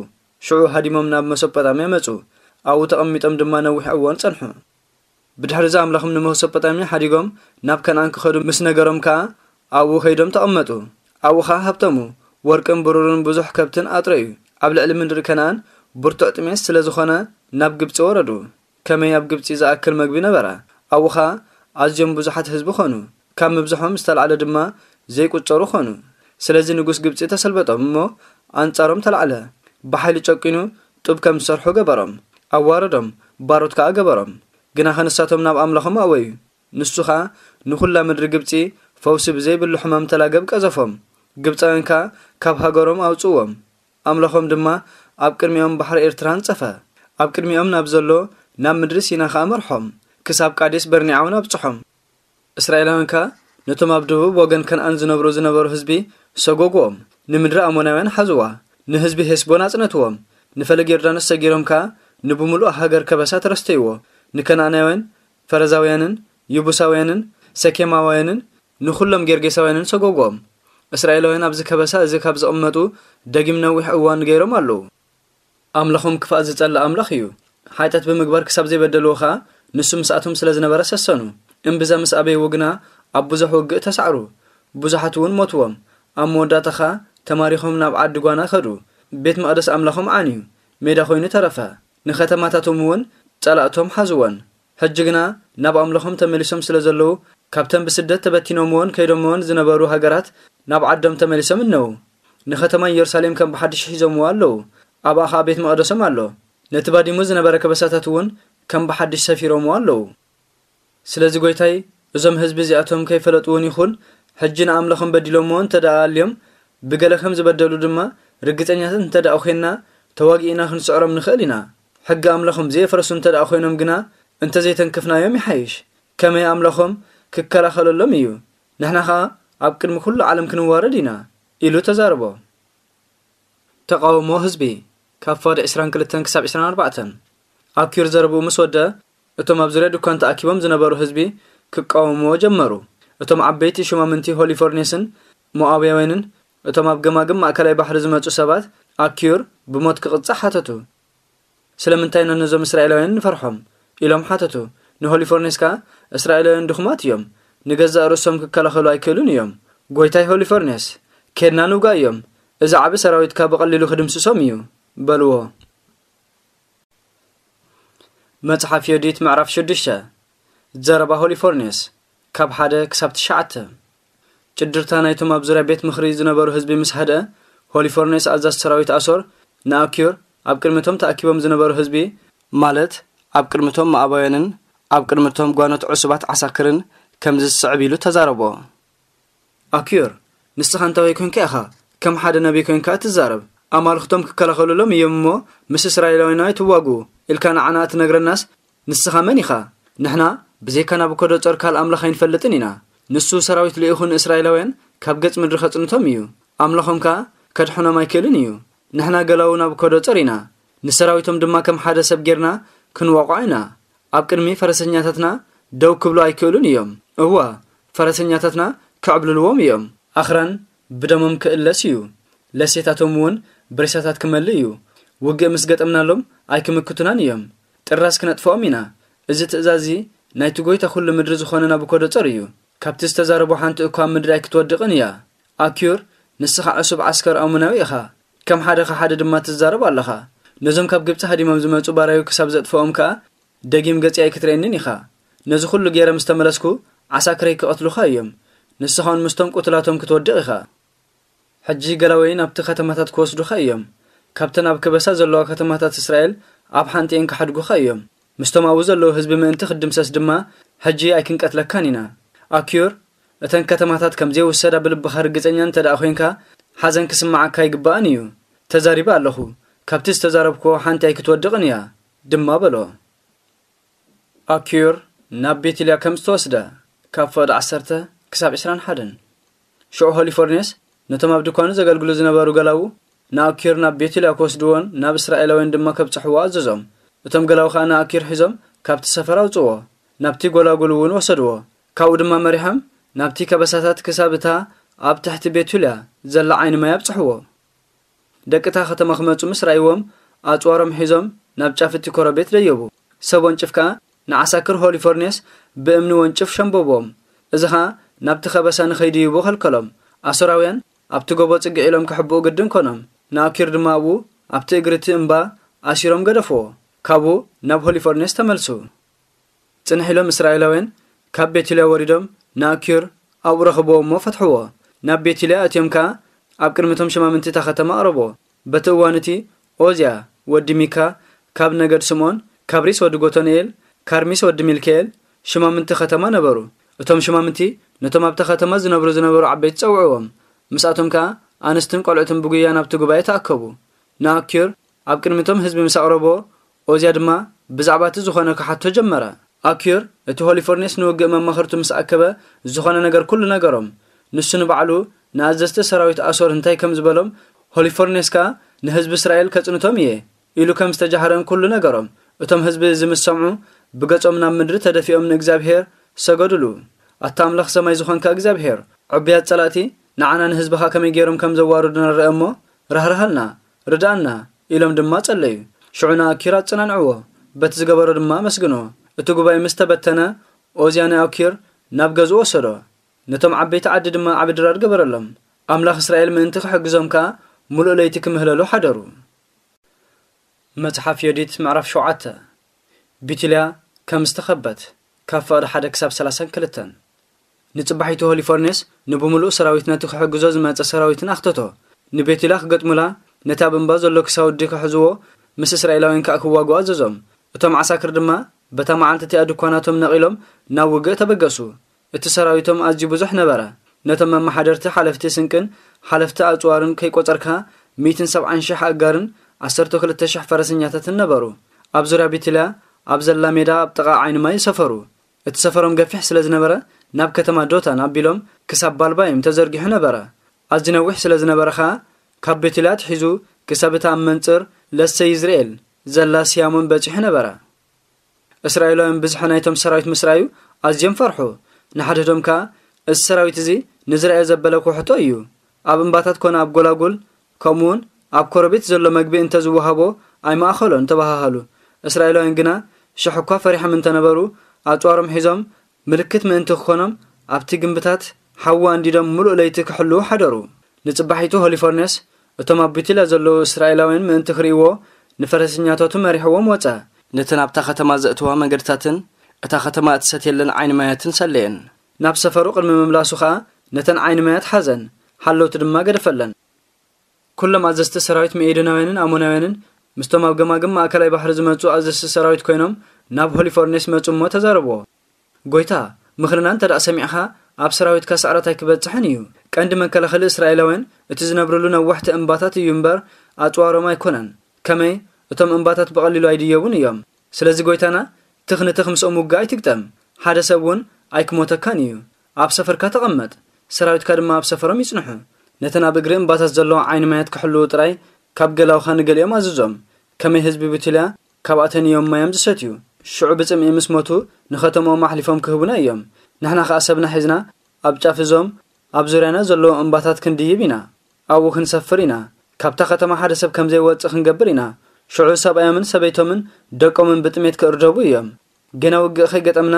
ሽዑ ሃዲሞም ናብ መሶጶጣምያ መጹ። ኣብኡ ተቐሚጦም ድማ ነዊሕ እዋን ጸንሑ። ብድሕሪዚ ኣምላኽም ንመሶጶጣምያ ሓዲጎም ናብ ከነኣን ክኸዱ ምስ ነገሮም ከኣ ኣብኡ ከይዶም ተቐመጡ። ኣብኡ ኸኣ ሃብተሙ። ወርቅን ብሩርን ብዙሕ ከብትን ኣጥረዩ። ኣብ ልዕሊ ምድሪ ከነኣን ብርቱዕ ጥሜት ስለ ዝኾነ ናብ ግብጺ ወረዱ። ከመይ ኣብ ግብጺ ዝኣክል መግቢ ነበረ? ኣብኡ ኸኣ ኣዝዮም ብዙሓት ህዝቢ ኾኑ። ካብ ምብዝሖም ዝተላዕለ ድማ ዘይቁጸሩ ኾኑ። ስለዚ ንጉስ ግብጺ ተሰልበጦም እሞ ኣንጻሮም ተላዕለ። ብሓይሊ ጨቂኑ ጡብ ከም ዝሰርሑ ገበሮም፣ ኣዋረዶም፣ ባሮት ከኣ ገበሮም። ግናኸ ንሳቶም ናብ ኣምላኾም ኣእወዩ። ንሱ ኸኣ ንኹላ ምድሪ ግብጺ ፈውሲ ብዘይብሉ ሕማም ተላገብ ቀዘፎም። ግብጻውያን ከኣ ካብ ሃገሮም ኣውጽእዎም። ኣምላኾም ድማ ኣብ ቅድሚኦም ባሕሪ ኤርትራ ኣንጸፈ። ኣብ ቅድሚኦም ናብ ዘሎ ናብ ምድሪ ሲና ኸኣ መርሖም። ክሳብ ቃዴስ በርኒዓ እውን ኣብጽሖም። እስራኤላውያን ከኣ ነቶም ኣብ ደቡብ ወገን ከነኣን ዝነብሩ ዝነበሩ ህዝቢ ሰጎግዎም። ንምድሪ ኣሞናውያን ሓዝዋ። ንህዝቢ ሄስቦን ኣጽነትዎም። ንፈለግ ዮርዳኖስ ሰጊሮም ከኣ ንብምሉእ ሃገር ከበሳ ተረስተይዎ። ንከነኣናውያን፣ ፈረዛውያንን፣ ይቡሳውያንን፣ ሰኬማውያንን፣ ንኹሎም ጌርጌሳውያንን ሰጎግዎም። እስራኤላውያን ኣብዚ ከበሳ እዚ ካብ ዝቕመጡ ደጊም ነዊሕ እዋን ገይሮም ኣለዉ። ኣምላኾም ክፋእ ዝጸልእ ኣምላኽ እዩ። ሓጢኣት ብምግባር ክሳብ ዘይበደልዎ ኸኣ ንሱ ምስኣቶም ስለ ዝነበረ ሰሰኑ። እምብዛ ምስ ኣበይዎ ግና ኣብ ብዙሕ ውግእ ተሳዕሩ። ብዙሓት እውን ሞትዎም። ኣብ መወዳእታ ኸኣ ተማሪኾም ናብ ዓዲ ጓና ከዱ። ቤት መቕደስ ኣምላኾም ዓንዩ። ሜዳ ኮይኑ ተረፈ። ንኸተማታቶም እውን ጸላእቶም ሓዝወን። ሕጂ ግና ናብ ኣምላኾም ተመሊሶም ስለ ዘለዉ፣ ካብተን ብስደት ተበቲኖምዎን ከይዶምዎን ዝነበሩ ሃገራት ናብ ዓዶም ተመሊሶም እነዉ። ንኸተማ ኢየሩሳሌም ከም ብሓድሽ ሒዞምዎ ኣለዉ። ኣብኣ ኸኣ ቤት መቕደሶም ኣሎ። ነቲ ባዲሙ ዝነበረ ከበሳታት እውን ከም ብሓድሽ ሰፊሮምዎ ኣለዉ። ስለዚ ጐይታይ፣ እዞም ህዝቢ እዚኣቶም ከይፈለጥዎን ይኹን፣ ሕጂ ንኣምላኾም በዲሎምዎ እንተ ደኣ ኣልዮም፣ ብገለ ከም ዝበደሉ ድማ ርግጸኛታት እንተ ደኣ ኾንና፣ ተዋጊእና ክንስዕሮም ንኽእል ኢና። ሕጊ ኣምላኾም ዘየፍረሱ እንተ ደኣ ኾይኖም ግና፣ እንተ ዘይተንከፍናዮም ይሓይሽ። ከመይ ኣምላኾም ክከላኸለሎም እዩ። ንሕና ኸኣ ኣብ ቅድሚ ኩሉ ዓለም ክንዋረድ ኢና፣ ኢሉ ተዛረቦ። ተቓውሞ ህዝቢ፣ ካብ ፍቕዲ ዕስራን ክልተን ክሳብ ዕስራን ኣርባዕተን። ኣኪር ዘረብኡ ምስ ወደ፣ እቶም ኣብ ዙርያ ድኳን ተኣኪቦም ዝነበሩ ህዝቢ ክቃወምዎ ጀመሩ። እቶም ዓበይቲ ሹማምንቲ ሆሊፎርኔስን ሞኣብያውያንን፣ እቶም ኣብ ገማግም ማእከላይ ባሕሪ ዝመጹ ሰባት፣ ኣኪር ብሞት ክቕጻዕ ሓተቱ። "ስለምንታይ ኢና ነዞም እስራኤላውያን ንፈርሖም?" ኢሎም ሓተቱ። ንሆሊፎርኔስ ከኣ፣ "እስራኤላውያን ድኹማት እዮም፣ ንገዛእ ርእሶም ክከላኸሉ ኣይክእሉን እዮም። ጐይታይ ሆሊፎርኔስ፣ ኬድና ንውጋእ እዮም፣ እዚ ዓቢ ሰራዊትካ ብቐሊሉ ክድምስሶም እዩ" በልዎ። መጽሓፍ ዮዲት ምዕራፍ ሽዱሽተ። ዘረባ ሆሊፎርኔስ፣ ካብ ሓደ ክሳብ ትሽዓተ። ጭድርታ ናይቶም ኣብ ዙርያ ቤት ምኽሪ ዝነበሩ ህዝቢ ምስ ሃድአ፣ ሆሊፎርኔስ ኣዛዚ ሰራዊት ኣሶር ንኣኪዮር ኣብ ቅድሚቶም ተኣኪቦም ዝነበሩ ህዝቢ፣ ማለት ኣብ ቅድሚቶም ሞኣባውያንን ኣብ ቅድሚቶም ጓኖት ዕሱባት ዓሳክርን ከምዚ ዝስዕብ ኢሉ ተዛረቦ። ኣኪዮር፣ ንስኻ እንታይ ኮንካ ኢኻ ከም ሓደ ነቢይ ኮንካ እትዛረብ? ኣማልኽቶም ክከላኸሉሎም እዮም እሞ ምስ እስራኤላውያን ኣይትዋግኡ ኢልካ ንዓና እትነግረናስ ንስኻ መን ኢኻ? ንሕና ብዘይካ ናቡከደጾር ካልእ ኣምላኽ ኣይንፈልጥን ኢና። ንሱ ሰራዊት ልኢኹ ንእስራኤላውያን ካብ ገጽ ምድሪ ከጽንቶም እዩ። ኣምላኾም ከኣ ከድሕኖም ኣይክእልን እዩ። ንሕና ገላዉ ናቡከደጾር ኢና። ንሰራዊቶም ድማ ከም ሓደ ሰብ ጌርና ክንወቕዖ ኢና። ኣብ ቅድሚ ፈረሰኛታትና ደው ክብሉ ኣይክእሉን እዮም። እወ፣ ፈረሰኛታትና ክዕብልልዎም እዮም። ኣኽራን ብደሞም ክእለስ እዩ። ለሴታቶም እውን ብሬሳታት ክመልእ እዩ። ውግእ ምስ ገጠምናሎም ኣይክምክቱናን እዮም። ጥራስ ክነጥፍኦም ኢና። እዚ ትእዛዝ እዚ ናይቲ ጐይታ ኵሉ ምድሪ ዝኾነ ናቡከደጸር እዩ። ካብቲ ዝተዛረቦ ሓንቲ እኳ ኣብ ምድሪ ኣይክትወድቕን እያ። ኣኪዩር፣ ንስኻ ዕሱብ ዓስከር ኣሞናዊ ኢኻ። ከም ሓደ ኸሓዲ ድማ ትዛረብ ኣለኻ። ነዞም ካብ ግብጺ ሃዲሞም ዝመጹ ባራዩ ክሳብ ዘጥፍኦም ከኣ ደጊም ገጺ ኣይክትርእየንን ኢኻ። ነዚ ኹሉ ገይረ ምስ ተመለስኩ ዓሳክረይ ክቐትሉኻ እዮም። ንስኻውን ምስቶም ቁትላቶም ክትወድቕ ኢኻ። ሕጂ ገላውያን ናብቲ ከተማታት ክወስዱኻ እዮም። ካብተን ኣብ ከበሳ ዘለዋ ከተማታት እስራኤል ኣብ ሓንቲኤን ክሓድጉኻ እዮም። ምስቶም ኣብኡ ዘለዉ ህዝቢ ምእንቲ ክትድምሰስ ድማ ሕጂ ኣይክንቀትለካን ኢና። ኣኪዩር፣ እተን ከተማታት ከም ዘይውሰዳ ብልብኻ ርግጸኛ እንተ ደኣ ኾይንካ፣ ሓዘን ክስምዓካ ኣይግባእን እዩ። ተዛሪበ ኣለኹ። ካብቲ ዝተዛረብክዎ ሓንቲ ኣይክትወድቕን እያ፣ ድማ በሎ። ኣኪዩር ናብ ቤትልያ ከም ዝተወስደ፣ ካብ ፍቕዲ ዓሰርተ ክሳብ ዕስራን ሓደን። ሽዑ ሆሊፎርኔስ ነቶም ኣብ ድኳኑ ዘገልግሉ ዝነበሩ ገላዉ ንኣኪዩር ናብ ቤትልያ ክወስድዎን ናብ እስራኤላውያን ድማ ከብጽሕዎ ኣዘዞም። እቶም ገላዉ ኸኣ ንኣኪዩር ሒዞም ካብቲ ሰፈር ኣውጽእዎ፣ ናብቲ ጐላጉል እውን ወሰድዎ። ካብኡ ድማ መሪሖም ናብቲ ከበሳታት ክሳብ እታ ኣብ ትሕቲ ቤትልያ ዘላ ዓይኒ ማይ ኣብጽሕዎ። ደቂ እታ ከተማ ክመጹ ምስ ረኣይዎም፣ ኣጽዋሮም ሒዞም ናብ ጫፍ እቲ ኮረቤት ደየቡ። ሰብ ወንጭፍ ከኣ ንዓሳክር ሆሊፎርኔስ ብእምኒ ወንጭፍ ሸምበቦም። እዚ ኸኣ ናብቲ ከበሳ ንኸይድይቡ ኸልከሎም። ኣሶራውያን ኣብቲ ጎቦ ጽግዕ ኢሎም ክሕብኡ ግድን ኮኖም። ንኣኪር ድማ ኣብኡ ኣብቲ እግሪ እቲ እምባ ኣሲሮም ገደፍዎ። ካብኡ ናብ ሆሊፎርኔስ ተመልሱ። ጽንሕ ኢሎም እስራኤላውያን ካብ ቤትልያ ወሪዶም ንኣኪር ኣብኡ ረኽብዎ እሞ ፈትሕዎ። ናብ ቤትልያ ኣትዮም ከኣ ኣብ ቅድሚ እቶም ሸማምንቲ እታ ኸተማ ኣቕረብዎ። በቲ እዋን እቲ ኦዝያ ወዲ ሚካ፣ ካብ ነገድ ስምኦን፣ ካብሪስ ወዲ ጎቶንኤል፣ ካርሚስ ወዲ ሚልክኤል ሽማምንቲ ከተማ ነበሩ። እቶም ሽማምንቲ ነቶም ኣብታ ከተማ ዝነብሩ ዝነበሩ ዓበይቲ ጸውዕዎም። ምስኣቶም ከኣ ኣንስትን ቆልዑትን ብጉያ ናብቲ ጉባኤ ተኣከቡ። ንኣኪር ኣብ ቅድሚቶም ህዝቢ ምስ ኣቕረቦ፣ ኦዝያ ድማ ብዛዕባ እቲ ዝኾነ ክሓቶ ጀመረ። ኣኪር እቲ ሆሊፎርኔስ ንውግእ መማኽርቱ ምስ ኣከበ፣ ዝኾነ ነገር ኩሉ ነገሮም። ንሱ ንባዕሉ ንኣዘዝቲ ሰራዊት ኣሶር እንታይ ከም ዝበሎም፣ ሆሊፎርኔስ ከኣ ንህዝቢ እስራኤል ከጽንቶም እየ ኢሉ ከም ዝተጃህረን ኩሉ ነገሮም። እቶም ህዝቢ እዚ ምስ ሰምዑ፣ ብገጾም ናብ ምድሪ ተደፊኦም ንእግዚኣብሄር ሰገዱሉ። ኣታ ኣምላኽ ሰማይ ዝኾንካ እግዚኣብሄር፣ ዕቡያት ጸላእቲ ንዓና ንህዝብኻ ከመይ ገይሮም ከም ዘዋርዱና ንርአ እሞ፣ ራህርሃልና፣ ርድኣና ኢሎም ድማ ጸለዩ። ሽዑ ንኣኪር ኣጸናንዕዎ፣ በቲ ዝገበሮ ድማ ኣመስግንዎ። እቲ ጉባኤ ምስ ተበተነ፣ ኦዝያ ንኣኪር ናብ ገዝኡ ወሰዶ። ነቶም ዓበይቲ ዓዲ ድማ ዓቢ ድራር ገበረሎም። ኣምላኽ እስራኤል ምእንቲ ክሕግዞም ከኣ፣ ምሉእ ለይቲ ክምህለሉ ሓደሩ። መጽሓፍ ዮዲት ምዕራፍ ሸውዓተ። ቢትልያ ከም ዝተኸበት፣ ካብ ፍቕዲ ሓደ ክሳብ ሰላሳን ክልተን። ንጽባሒቱ ሆሊፎርኔስ ንብምሉእ ሰራዊት ነቲ ክሕግዞ ዝመጸ ሰራዊትን ኣኽተቶ። ንቤትልያ ክገጥሙላ፣ ነቲ ኣብ እምባ ዘሎ ክሳውዲ ክሕዝዎ፣ ምስ እስራኤላውያን ከኣ ክዋግኡ ኣዘዞም። እቶም ዓሳክር ድማ በታ መዓልቲ እቲኣ ድኳናቶም ነቒሎም ናብ ውግእ ተበገሱ። እቲ ሰራዊቶም ኣዝዩ ብዙሕ ነበረ። ነቶም መመሓደርቲ፣ ሓለፍቲ ስንቅን ሓለፍቲ ኣጽዋርን ከይቆጸርካ፣ ሚእትን ሰብዓን ሽሕ ኣእጋርን ዓሰርተ ክልተ ሽሕ ፈረሰኛታትን ነበሩ። ኣብ ዙርያ ቢትልያ ኣብ ዘላ ሜዳ ኣብ ጥቓ ዓይኒ ማይ ሰፈሩ። እቲ ሰፈሮም ገፊሕ ስለ ዝነበረ፣ ናብ ከተማ ዶታን ኣቢሎም ክሳብ ባልባይም ተዘርጊሑ ነበረ። ኣዝዩ ነዊሕ ስለ ዝነበረ ኸኣ፣ ካብ ቤትልያ ኣትሒዙ ክሳብ እታ ኣብ መንጽር ለሰ ይዝርኤል ዘላ ስያሞን በጺሑ ነበረ። እስራኤላውያን ብዝሒ ናይቶም ሰራዊት ምስ ረኣዩ ኣዝዮም ፈርሑ። ንሓድሕዶም ከኣ፣ "እዚ ሰራዊት እዚ ንዝረኣዮ ዘበለ ኩሕቶ እዩ። ኣብ እምባታት ኮነ ኣብ ጎላጉል፣ ከምኡውን ኣብ ኮረቤት ዘሎ መግቢ እንተ ዝወሃቦ ኣይምኣኸሎን" ተባሃሃሉ። እስራኤላውያን ግና ሽሕ እኳ ፈሪሖም እንተነበሩ፣ ኣጽዋሮም ሒዞም ምልክት ምእንቲ ክኾኖም ኣብቲ ግምብታት ሓዊ ኣንዲዶም ምሉእ ለይቲ ክሕልዉ ሓደሩ። ንጽባሒቱ ሆሊፎርኔስ እቶም ኣብ ቢትልያ ዘለዉ እስራኤላውያን ምእንቲ ክርእይዎ ንፈረሰኛታቱ መሪሕዎም ወጸ። ነተን ኣብታ ከተማ ዘእትዋ መንገድታትን እታ ከተማ እትሰትየለን ዓይኒ ማያትን ሰለየን። ናብ ሰፈሩ ቅድሚ ምምላሱ ኸኣ ነተን ዓይኒ ማያት ሓዘን፣ ሓለውቲ ድማ ገደፈለን። ኩሎም ኣዘዝቲ ሰራዊት መኤዶናውያንን ኣሞናውያንን ምስቶም ኣብ ገማግም ማእከላይ ባሕሪ ዝመጹ ኣዘዝቲ ሰራዊት ኮይኖም ናብ ሆሊፎርኔስ መጹ እሞ ተዛረብዎ። "ጎይታ፣ ምኽርና እንተ ደኣ ሰሚዕኻ፣ ኣብ ሰራዊትካ ስዕረት ኣይክበጽሕን እዩ። ቀንዲ መከላኸሊ እስራኤላውያን እቲ ዝነብርሉ ነዋሕቲ እምባታት እዩ እምበር፣ ኣጽዋሮም ኣይኮነን። ከመይ፣ እቶም እምባታት ብቐሊሉ ኣይድየቡን እዮም። ስለዚ ጎይታና፣ ትኽ ንትኽ ምስኦም ውግእ ኣይትግጠም። ሓደ ሰብ እውን ኣይክሞተካን እዩ። ኣብ ሰፈርካ ተቐመጥ፣ ሰራዊትካ ድማ ኣብ ሰፈሮም ይጽንሑ። ነተን ኣብ እግሪ እምባታት ዘለዋ ዓይኒ ማያት ክሕልዉ ጥራይ ካብ ገላውኻ ንገሊኦም ኣዝዞም። ከመይ ህዝቢ ብቱልያ ካብኣተን እዮም ማዮም ዝሰትዩ። ሽዑ ብጽምኢ ምስ ሞቱ ንኸተምኦም ኣሕሊፎም ክህቡና እዮም። ንሕና ኸኣ ሰብና ሒዝና ኣብ ጫፍ እዞም ኣብ ዙርያና ዘለዉ እምባታት ክንድይብ ኢና። ኣብኡ ክንሰፍር ኢና። ካብታ ከተማ ሓደ ሰብ ከም ዘይወጽእ ክንገብር ኢና። ሽዑ ሰብኣዮምን ሰበይቶምን ደቆምን ብጥሜት ክእርደቡ እዮም። ገና ውግእ ከይገጠምና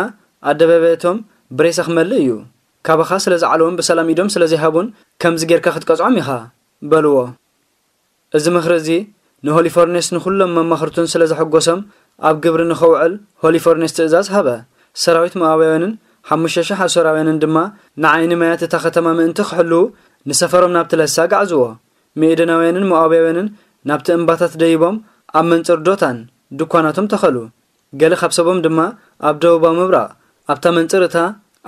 ኣደባባያቶም ብሬሳ ክመልእ እዩ። ካባኻ ስለ ዝዓለውን ብሰላም ኢዶም ስለ ዘይሃቡን ከምዚ ጌርካ ክትቀጽዖም ኢኻ" በልዎ። እዚ ምኽሪ እዚ ንሆሊፎርኔስ ንኹሎም መማኽርቱን ስለ ዘሐጎሶም ኣብ ግብሪ ንኸውዕል ሆሊፎርኔስ ትእዛዝ ሃበ። ሰራዊት ሞኣባውያንን ሓሙሽተ ሽሕ ኣሶራውያንን ድማ ንዓይኒ ማያት እታ ከተማ ምእንቲ ክሕልዉ ንሰፈሮም ናብቲ ለሳ ኣጋዕዝዎ። መኤዶናውያንን ሞኣባውያንን ናብቲ እምባታት ደይቦም ኣብ መንጽር ዶታን ድኳናቶም ተኸሉ። ገለ ካብ ሰቦም ድማ ኣብ ደቡባዊ ምብራቕ ኣብታ መንጽር እታ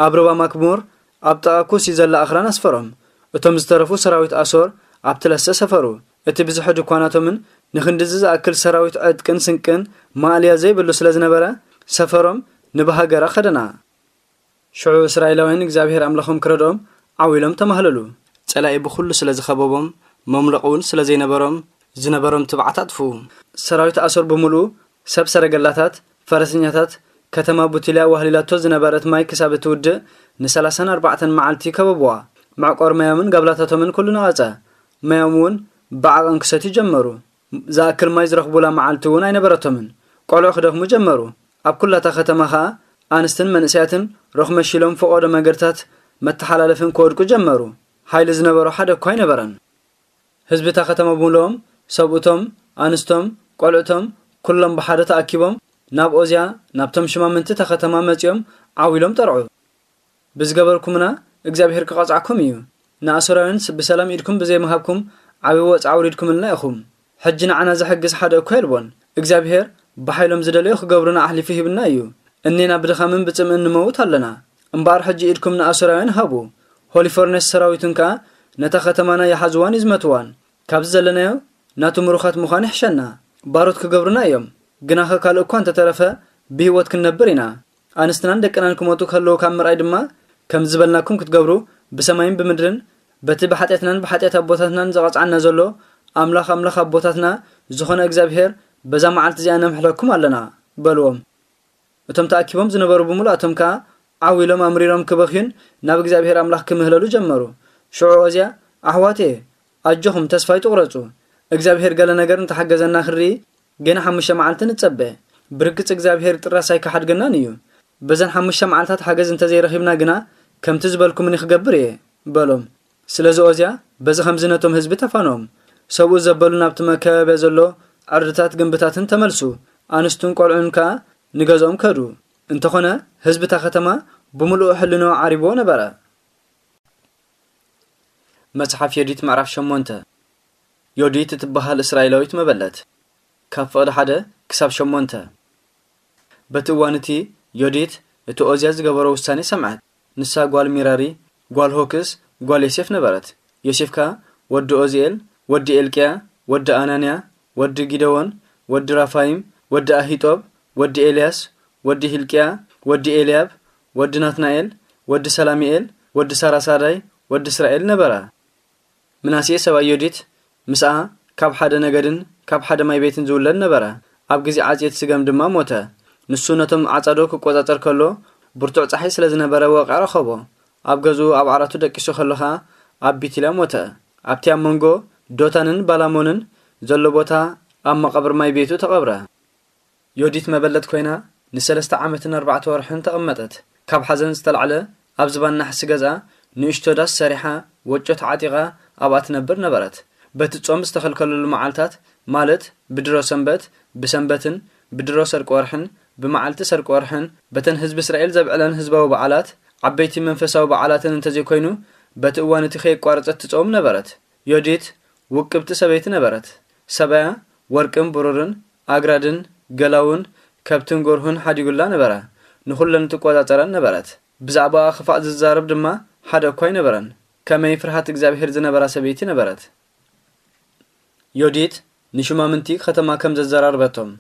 ኣብ ሩባ ማክሙር ኣብ ጥቓ ኩሲ ዘላ ኣኽራን ኣስፈሮም። እቶም ዝተረፉ ሰራዊት ኣሶር ኣብቲ ለሰ ሰፈሩ። እቲ ብዝሒ ድኳናቶምን ንኽንድዚ ዝኣክል ሰራዊት ዕጥቅን ስንቅን ማእልያ ዘይብሉ ስለ ዝነበረ፣ ሰፈሮም ንብሃገራ ከደና። ሽዑ እስራኤላውያን እግዚኣብሔር ኣምላኾም ክረድኦም ዓው ኢሎም ተማህለሉ። ጸላኢ ብኹሉ ስለ ዝኸበቦም፣ መምለቒ እውን ስለ ዘይነበሮም፣ ዝነበሮም ትብዓት ኣጥፍኡ። ሰራዊት ኣሶር ብምሉኡ፣ ሰብ ሰረገላታት፣ ፈረሰኛታት፣ ከተማ ቡቲልያ ዋህሊላቶ ዝነበረት ማይ ክሳብ እትውድእ ንሰላሳን ኣርባዕተን መዓልቲ ከበብዋ። መዕቆር ማዮምን ጋብላታቶምን ኩሉ ነቐጸ። ማዮም እውን ብዓቐን ክሰትዩ ጀመሩ። ዝኣክል ማይ ዝረኽቡላ መዓልቲ እውን ኣይነበረቶምን። ቆልዑ ክደኽሙ ጀመሩ። ኣብ ኩላታ ከተማ ኸኣ ኣንስትን መንእሰያትን ሮኽ መሺሎም ፈቖዶ መገድታት መተሓላለፍን ክወድቁ ጀመሩ። ሓይሊ ዝነበሮ ሓደ እኳ ኣይነበረን። ህዝቢ እታ ከተማ ብምልኦም፣ ሰብኡቶም፣ ኣንስቶም፣ ቆልዑቶም፣ ኩሎም ብሓደ ተኣኪቦም ናብ ኦዝያ፣ ናብቶም ሽማምንቲ እታ ከተማ መጺኦም ዓው ኢሎም ጠርዑ። ብዝገበርኩምና እግዚኣብሄር ክቐጽዓኩም እዩ። ንኣሶራውያን ስ-፣ ብሰላም ኢድኩም ብዘይምሃብኩም ዓቢ ወጽዓ ኣውሪድኩምልና ኢኹም። ሕጂ ንዓና ዝሕግዝ ሓደ እኳ የልቦን። እግዚኣብሔር ብሓይሎም ዝደለዮ ክገብሩና ኣሕሊፉ ሂብና እዩ። እኔና ብድኻምን ብጽምእን ንመውት ኣለና። እምበኣር ሕጂ ኢድኩም ንኣሶራውያን ሃቡ። ሆሊፎርኔስ ሰራዊቱን ከኣ ነታ ከተማና ይሓዝዋን ይዝመትዋን። ካብዚ ዘለናዮ ናቱ ምሩኻት ምዃን ይሕሸና። ባሮት ክገብሩና እዮም። ግናኸ ካልእ እኳ እንተተረፈ ብህይወት ክንነብር ኢና። ኣንስትናን ደቅናን ክሞቱ ከለዉ ካብ ምርኣይ ድማ ከም ዝበልናኩም ክትገብሩ ብሰማይን ብምድርን በቲ ብሓጢኣትናን ብሓጢኣት ኣቦታትናን ዘቐጽዓና ዘሎ ኣምላኽ ኣምላኽ ኣቦታትና ዝኾነ እግዚኣብሔር በዛ መዓልቲ እዚኣ ነምሕለኩም ኣለና በልዎም። እቶም ተኣኪቦም ዝነበሩ ብምሉኣቶም ከኣ ዓው ኢሎም ኣምሪሮም ክበኽዩን ናብ እግዚኣብሔር ኣምላኽ ክምህለሉ ጀመሩ። ሽዑ ኦዝያ ኣሕዋት እየ ኣጆኹም ተስፋ ኣይትቑረጹ። እግዚኣብሔር ገለ ነገር እንተሓገዘና ክንርኢ ገና ሓሙሽተ መዓልቲ ንጸበ። ብርግጽ እግዚኣብሔር ጥራስ ኣይከሓድገናን እዩ። በዘን ሓሙሽተ መዓልታት ሓገዝ እንተዘይረኺብና ግና ከምቲ ዝበልኩምኒ ክገብር እየ በሎም። ስለዚ ኦዝያ በዚ ከምዚ ነቶም ህዝቢ ተፋኖም። ሰብኡ ዘበሉ ናብቲ መከባብያ ዘሎ ዕርድታት ግንብታትን ተመልሱ። ኣንስቱን ቆልዑን ከኣ ንገዝኦም ከዱ። እንተኾነ ህዝቢ እታ ከተማ ብምሉኡ ሕልንኡ ዓሪብዎ ነበረ። መጽሓፍ ዮዲት ምዕራፍ ሸሞንተ። ዮዲት እትበሃል እስራኤላዊት መበለት። ካብ ፍቕዲ ሓደ ክሳብ ሸሞንተ። በቲ እዋን እቲ ዮዲት እቲ ኦዝያ ዝገበሮ ውሳኔ ሰምዐት። ንሳ ጓል ሚራሪ፣ ጓል ሆክስ፣ ጓል ዮሴፍ ነበረት። ዮሴፍ ከኣ ወዲ ኦዝኤል፣ ወዲ ኤልቅያ፣ ወዲ ኣናንያ፣ ወዲ ጊደዎን፣ ወዲ ራፋይም፣ ወዲ ኣሂጦብ፣ ወዲ ኤልያስ፣ ወዲ ሂልቅያ፣ ወዲ ኤልያብ፣ ወዲ ናትናኤል፣ ወዲ ሰላሚኤል፣ ወዲ ሳራሳዳይ፣ ወዲ እስራኤል ነበራ። ምናሴ ሰብኣይ ዮዲት ምስኣ ካብ ሓደ ነገድን ካብ ሓደ ማይ ቤትን ዝውለድ ነበረ። ኣብ ግዜ ዓጽየት ስገም ድማ ሞተ። ንሱ ነቶም ዓጻዶ ክቆጻጸር ከሎ ብርቱዕ ጸሓይ ስለ ዝነበረ ወቕዒ ረኸቦ። ኣብ ገዝኡ ኣብ ዓራቱ ደቂሱ ከሎ ኸኣ ኣብ ቢትልያ ሞተ። ኣብቲ ኣብ መንጎ ዶታንን ባላሞንን ዘሎ ቦታ ኣብ መቓብር ማይ ቤቱ ተቐብረ። ዮዲት መበለት ኮይና ንሰለስተ ዓመትን ኣርባዕተ ወርሕን ተቐመጠት። ካብ ሓዘን ዝተላዕለ ኣብ ዝባን ናሕሲ ገዝኣ ንእሽቶ ዳስ ሰሪሓ ወጮ ተዓጢቓ ኣብኣ ትነብር ነበረት። በቲ ጾም ዝተኸልከለሉ መዓልታት ማለት ብድሮ ሰንበት፣ ብሰንበትን ብድሮ ሰርቂ ወርሕን ብመዓልቲ ሰርቂ ወርሕን በተን ህዝቢ እስራኤል ዘብዕለን ህዝባዊ በዓላት ዓበይቲ መንፈሳዊ በዓላትን እንተዘይኮይኑ በቲ እዋን እቲ ከየቋረጸት ትጾም ነበረት። ዮዲት ውቅብቲ ሰበይቲ ነበረት። ሰብኣያ ወርቅን ብሩርን ኣግራድን ገላውን ከብትን ጎርሁን ሓዲጉላ ነበረ። ንኹለን ትቆጻጸረን ነበረት። ብዛዕባኣ ክፋእ ዝዛረብ ድማ ሓደ እኳ ኣይነበረን። ከመይ ፍርሃት እግዚኣብሔር ዝነበራ ሰበይቲ ነበረት። ዮዲት ንሹማምንቲ ከተማ ከም ዘዘራርበቶም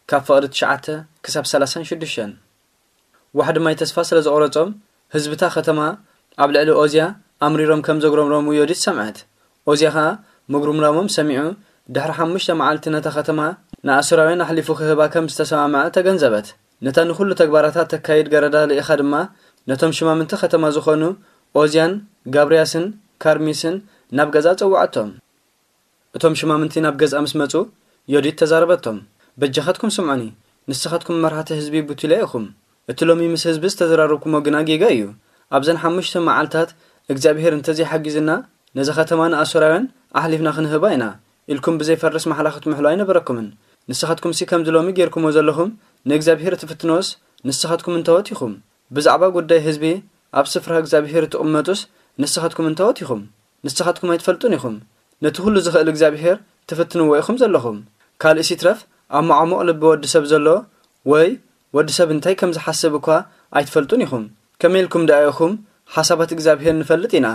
ካብ ፍቕዲ ትሽዓተ ክሳብ ሰላሳን ሽዱሽተን። ዋሕዲ ማይ ተስፋ ስለ ዘቑረጾም ህዝብታ ከተማ ኣብ ልዕሊ ኦዝያ ኣምሪሮም ከም ዘጉረምረሙ ዮዲት ሰምዐት። ኦዝያ ኸኣ ምጉርምራሞም ሰሚዑ ድሕሪ ሓሙሽተ መዓልቲ ነታ ከተማ ንኣሱራውያን ኣሕሊፉ ክህባ ከም ዝተሰማምዐ ተገንዘበት። ነታ ንኹሉ ተግባራታ ተካይድ ገረዳ ልኢኻ ድማ ነቶም ሽማምንቲ ከተማ ዝኾኑ ኦዝያን ጋብርያስን ካርሚስን ናብ ገዛ ጸውዓቶም። እቶም ሽማምንቲ ናብ ገዝኣ ምስ መጹ ዮዲት ተዛረበቶም። በጃኻትኩም ስምዑኒ፣ ንስኻትኩም መራሕቲ ህዝቢ ቡቱልያ ኢኹም። እቲ ሎሚ ምስ ህዝቢ ዝተዘራረብኩሞ ግና ጌጋ እዩ። ኣብዘን ሓሙሽተ መዓልታት እግዚኣብሄር እንተዘይሓጊዝና ነዛ ከተማ ንኣሶራውያን ኣሕሊፍና ክንህባ ኢና ኢልኩም ብዘይፈርስ ማሕላ ክትምሕሉ ኣይነበረኩምን። ንስኻትኩምሲ ከምዚ ሎሚ ጌርኩሞ ዘለኹም ንእግዚኣብሄር እትፍትንዎስ ንስኻትኩም እንታዎት ኢኹም? ብዛዕባ ጉዳይ ህዝቢ ኣብ ስፍራ እግዚኣብሄር እትቕመጡስ ንስኻትኩም እንታዎት ኢኹም? ንስኻትኩም ኣይትፈልጡን ኢኹም። ነቲ ኩሉ ዝኽእል እግዚኣብሄር ትፍትንዎ ኢኹም ዘለኹም። ካልእስ ይትረፍ ኣብ መዓሙቕ ልቢ ወዲ ሰብ ዘሎ ወይ ወዲ ሰብ እንታይ ከም ዝሓስብ እኳ ኣይትፈልጡን ኢኹም። ከመይ ኢልኩም ደኣ ኢኹም ሓሳባት እግዚኣብሄር ንፈልጥ ኢና፣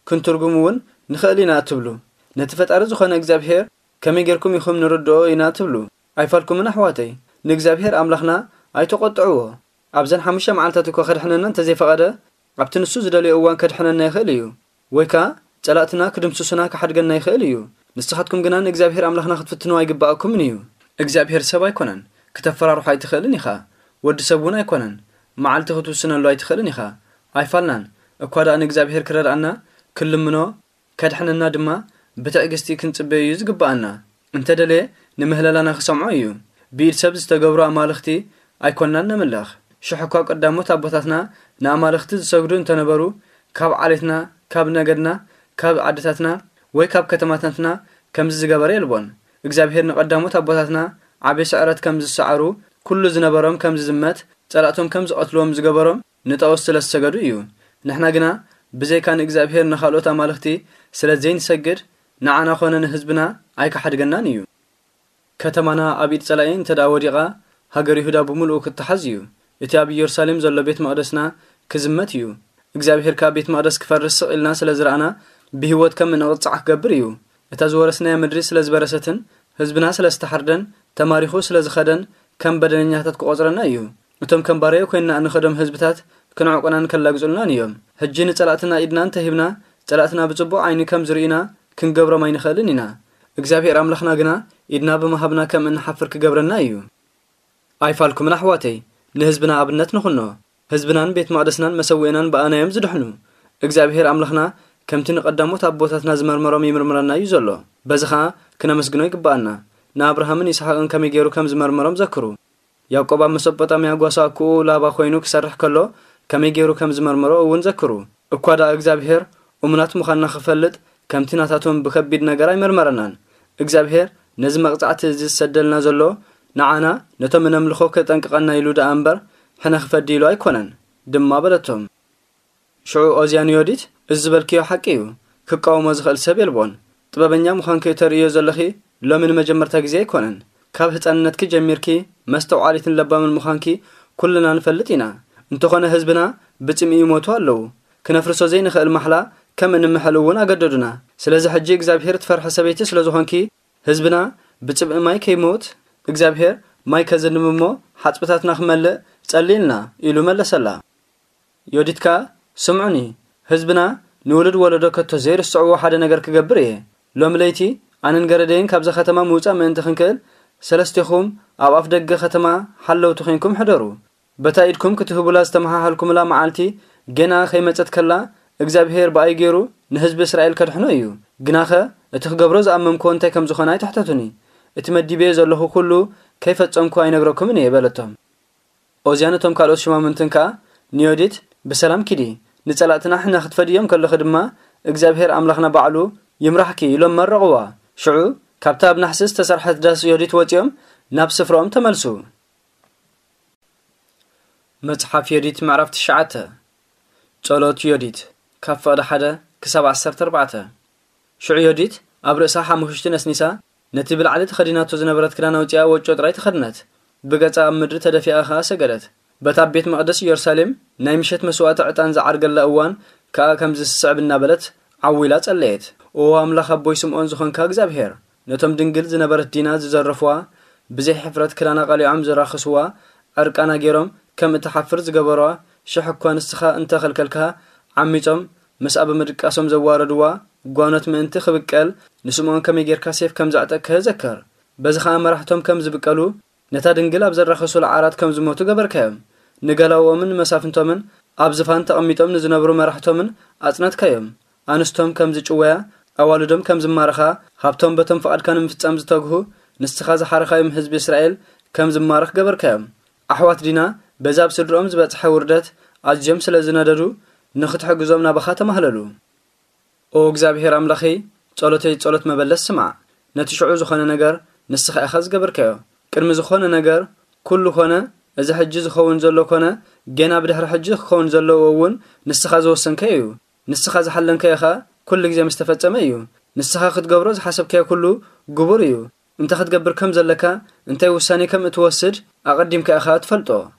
ክንትርጉም እውን ንኽእል ኢና እትብሉ? ነቲ ፈጣሪ ዝኾነ እግዚኣብሄር ከመይ ጌርኩም ኢኹም ንርድኦ ኢና ትብሉ? ኣይፋልኩምን ኣሕዋተይ፣ ንእግዚኣብሄር ኣምላኽና ኣይተቖጥዕዎ። ኣብዘን ሓሙሽተ መዓልታት እኳ ከድሕነና እንተዘይፈቐደ ኣብቲ ንሱ ዝደልዮ እዋን ከድሕነና ይኽእል እዩ። ወይ ከኣ ጸላእትና ክድምስሱና ክሓድገና ይኽእል እዩ። ንስኻትኩም ግና ንእግዚኣብሄር ኣምላኽና ክትፍትንዎ ኣይግብኣኩምን እዩ። እግዚኣብሄር ሰብ ኣይኮነን፣ ክተፈራርሖ ኣይትኽእልን ኢኻ። ወዲ ሰብ እውን ኣይኮነን፣ መዓልቲ ክትውስነሉ ኣይትኽእልን ኢኻ። ኣይፋልናን። እኳ ደኣ ንእግዚኣብሄር ክረድኣና ክንልምኖ ከድሕነና ድማ ብትዕግስቲ ክንጽበዮ እዩ ዝግብኣና። እንተ ደለየ ንምህለላና ክሰምዖ እዩ። ብኢድ ሰብ ዝተገብሩ ኣማልኽቲ ኣይኮንናን ነምልኽ። ሽሕ እኳ ቀዳሞት ኣቦታትና ንኣማልኽቲ ዝሰግዱ እንተነበሩ ካብ ዓሌትና፣ ካብ ነገድና፣ ካብ ዓድታትና ወይ ካብ ከተማታትና ከምዚ ዝገበረ የልቦን። እግዚኣብሄር ንቐዳሞት ኣቦታትና ዓቢ ስዕረት ከም ዝሰዓሩ፣ ኩሉ ዝነበሮም ከም ዝዝመት፣ ጸላእቶም ከም ዝቐትልዎም ዝገበሮም ንጣኦት ስለ ዝሰገዱ እዩ። ንሕና ግና ብዘይካ ንእግዚኣብሄር ንኻልኦት ኣማልኽቲ ስለ ዘይንሰግድ ንዓና ኾነ ንህዝብና ኣይከሓድገናን እዩ። ከተማና ኣብ ኢድ ጸላኢ እንተ ደኣ ወዲቓ፣ ሃገር ይሁዳ ብምሉኡ ክትተሓዝ እዩ። እቲ ኣብ ኢየሩሳሌም ዘሎ ቤት መቕደስና ክዝመት እዩ። እግዚኣብሄር ከኣ ቤት መቕደስ ክፈርስ ስቕ ኢልና ስለ ዝረኣና፣ ብህይወት ከም እንቕጻዕ ክገብር እዩ። እታ ዝወረስናያ ምድሪ ስለ ዝበረሰትን ህዝብና ስለ ዝተሓርደን ተማሪኹ ስለ ዝኸደን ከም በደለኛታት ክቖጽረና እዩ። እቶም ከም ባርያ ኮይንና እንኸዶም ህዝብታት ክንዕቁናን ከላግጹልናን እዮም። ሕጂ ንጸላእትና ኢድና እንተሂብና፣ ጸላእትና ብጽቡቕ ዓይኒ ከም ዝርእዩና ክንገብሮም ኣይንኽእልን ኢና። እግዚኣብሄር ኣምላኽና ግና ኢድና ብምሃብና ከም እንሓፍር ክገብረና እዩ። ኣይፋልኩምን ኣሕዋተይ፣ ንህዝብና ኣብነት ንኹኖ። ህዝብናን ቤት መቕደስናን መሰውእናን ብኣና እዮም ዝድሕኑ። እግዚኣብሄር ኣምላኽና ከምቲ ንቐዳሞት ኣቦታትና ዝመርመሮም ይምርምረና እዩ ዘሎ። በዚ ኸኣ ክነመስግኖ ይግብኣና። ንኣብርሃምን ይስሓቅን ከመይ ገይሩ ከም ዝመርመሮም ዘክሩ። ያዕቆብ ኣብ መሶጶጣምያ ጓሳ ኣኩኡ ላባ ኮይኑ ክሰርሕ ከሎ ከመይ ገይሩ ከም ዝመርመሮ እውን ዘክሩ። እኳ ደኣ እግዚኣብሄር እሙናት ምዃንና ክፈልጥ ከምቲ ናታቶም ብከቢድ ነገር ኣይመርመረናን። እግዚኣብሄር ነዚ መቕጻዕቲ እዚ ዝሰደልና ዘሎ ንዓና ነቶም እነምልኾ ከጠንቅቐና ኢሉ ደኣ እምበር ሕነ ክፈዲ ኢሉ ኣይኮነን ድማ በለቶም። ሽዑ ኦዝያ ንዮዲት፣ እዚ ዝበልክዮ ሓቂ እዩ፣ ክቃወሞ ዝኽእል ሰብ የልቦን። ጥበበኛ ምዃንኪ እተርእዮ ዘለኺ ሎሚ ንመጀመርታ ግዜ ኣይኮነን። ካብ ህጻንነትኪ ጀሚርኪ መስተውዓሊትን ለባምን ምዃንኪ ኩልና ንፈልጥ ኢና። እንተኾነ ህዝብና ብጽምኢ ይሞቱ ኣለዉ። ክነፍርሶ ዘይንኽእል ማሕላ ከም እንምሕል እውን ኣገደዱና። ስለዚ ሕጂ እግዚኣብሄር ትፈርሒ ሰበይቲ ስለ ዝኾንኪ ህዝብና ብጽምኢ ማይ ከይሞት እግዚኣብሄር ማይ ከዝንብ እሞ ሓጽብታትና ክመልእ ጸልይልና ኢሉ መለሰላ። ዮዲት ከኣ፣ ስምዑኒ፣ ህዝብና ንውሉድ ወለዶ ከቶ ዘይርስዕዎ ሓደ ነገር ክገብር እየ። ሎሚ ለይቲ ኣነን ገረደይን ካብዛ ከተማ ምውጻእ ምእንቲ ክንክእል፣ ሰለስቴኹም ኣብ ኣፍ ደገ ከተማ ሓለውቲ ኴንኩም ሕደሩ። በታ ኢድኩም ክትህቡላ ዝተመሃሃልኩምላ መዓልቲ ገና ከይመጸት ከላ፣ እግዚኣብሄር ብኣይ ገይሩ ንህዝቢ እስራኤል ከድሕኖ እዩ። ግናኸ እቲ ክገብሮ ዝኣመምክዎ እንታይ ከም ዝኾነ ኣይትሕተቱኒ። እቲ መዲበዮ ዘለኹ ኩሉ ከይፈጸምኩ ኣይነግረኩምን እየ በለቶም። ኦዝያን እቶም ካልኦት ሹማምንትን ከኣ ንዮዲት፣ ብሰላም ኪዲ፣ ንጸላእትና ሕነ ክትፈድዮም ከለኺ ድማ እግዚኣብሄር ኣምላኽና ባዕሉ ይምራሕኪ ኢሎም መረቕዋ። ሽዑ ካብታ ኣብ ናሕሲ ዝተሰርሐት ዳስ ዮዲት ወጺኦም ናብ ስፍራኦም ተመልሱ። መጽሓፍ ዮዲት ምዕራፍ ትሽዓተ። ጸሎት ዮዲት ካብ ፍቕዲ ሓደ ክሳብ ዓሰርተ ኣርባዕተ። ሽዑ ዮዲት ኣብ ርእሳ ሓሙሽቲ ነስኒሳ፣ ነቲ ብላዕሊ ተኸዲናቶ ዝነበረት ክዳን ኣውጺኣ ወጮ ጥራይ ተኸድነት። ብገጻ ኣብ ምድሪ ተደፊኣ ኸኣ ሰገደት። በታ ኣብ ቤት መቕደስ ኢየሩሳሌም ናይ ምሸት መስዋእቲ ዕጣን ዝዓርገላ እዋን ከኣ ከምዚ ዝስዕብ እናበለት ዓው ኢላ ጸለየት። ኦ ኣምላኽ ኣቦይ ስምዖን ዝኾንካ እግዚኣብሄር፣ ነቶም ድንግል ዝነበረት ዲና ዝዘረፍዋ፣ ብዘይ ሕፍረት ክዳና ቀሊዖም ዝራኸስዋ፣ ዕርቃና ገይሮም ከም እትሓፍር ዝገበርዋ፣ ሽሕ እኳ ንስኻ እንተ ኸልከልካ፣ ዓሚጾም ምስኣ ብምድቃሶም ዘዋረድዋ ጓኖት ምእንቲ ክብቀል፣ ንስምዖን ከመይ ጌርካ ሴፍ ከም ዘዕጠቅካዮ ዘከር። በዚ ኸኣ መራሕቶም ከም ዝብቀሉ፣ ነታ ድንግል ኣብ ዘራኸሱላ ዓራት ከም ዝሞቱ ገበርካዮም። ንገላውኦምን ንመሳፍንቶምን ኣብ ዝፋን ተቐሚጦም ንዝነብሩ መራሕቶምን ኣጽነትካዮም። ኣንስቶም ከም ዝጭወያ፣ ኣዋልዶም ከም ዝማረኻ፣ ሃብቶም በቶም ፍቓድካ ንምፍጻም ዝተግሁ፣ ንስኻ ዝሓረኻዮም ህዝቢ እስራኤል ከም ዝማረኽ ገበርካዮም። ኣሕዋት ዲና በዚ ኣብ ስድርኦም ዝበጽሐ ውርደት ኣዝዮም ስለ ዝነደዱ፣ ንኽትሕግዞም ናባኻ ተማህለሉ። ኦ እግዚኣብሄር ኣምላኸይ፣ ጸሎተይ ጸሎት መበለት ስማዕ። ነቲ ሽዑ ዝኾነ ነገር ንስኻ ኢኻ ዝገበርካዮ። ቅድሚ ዝኾነ ነገር ኩሉ ኮነ፣ እዚ ሕጂ ዝኸውን ዘሎ ኮነ፣ ጌና ብድሕሪ ሕጂ ክኸውን ዘለዎ እውን ንስኻ ዝወሰንካዮ እዩ። ንስኻ ዝሓለንካዮ ኸኣ ኩሉ ግዜ ምስ ተፈጸመ እዩ። ንስኻ ክትገብሮ ዝሓሰብካዮ ኩሉ ግቡር እዩ። እንታይ ክትገብር ከም ዘለካ፣ እንታይ ውሳኔ ከም እትወስድ ኣቐዲምካ ኢኻ ትፈልጦ።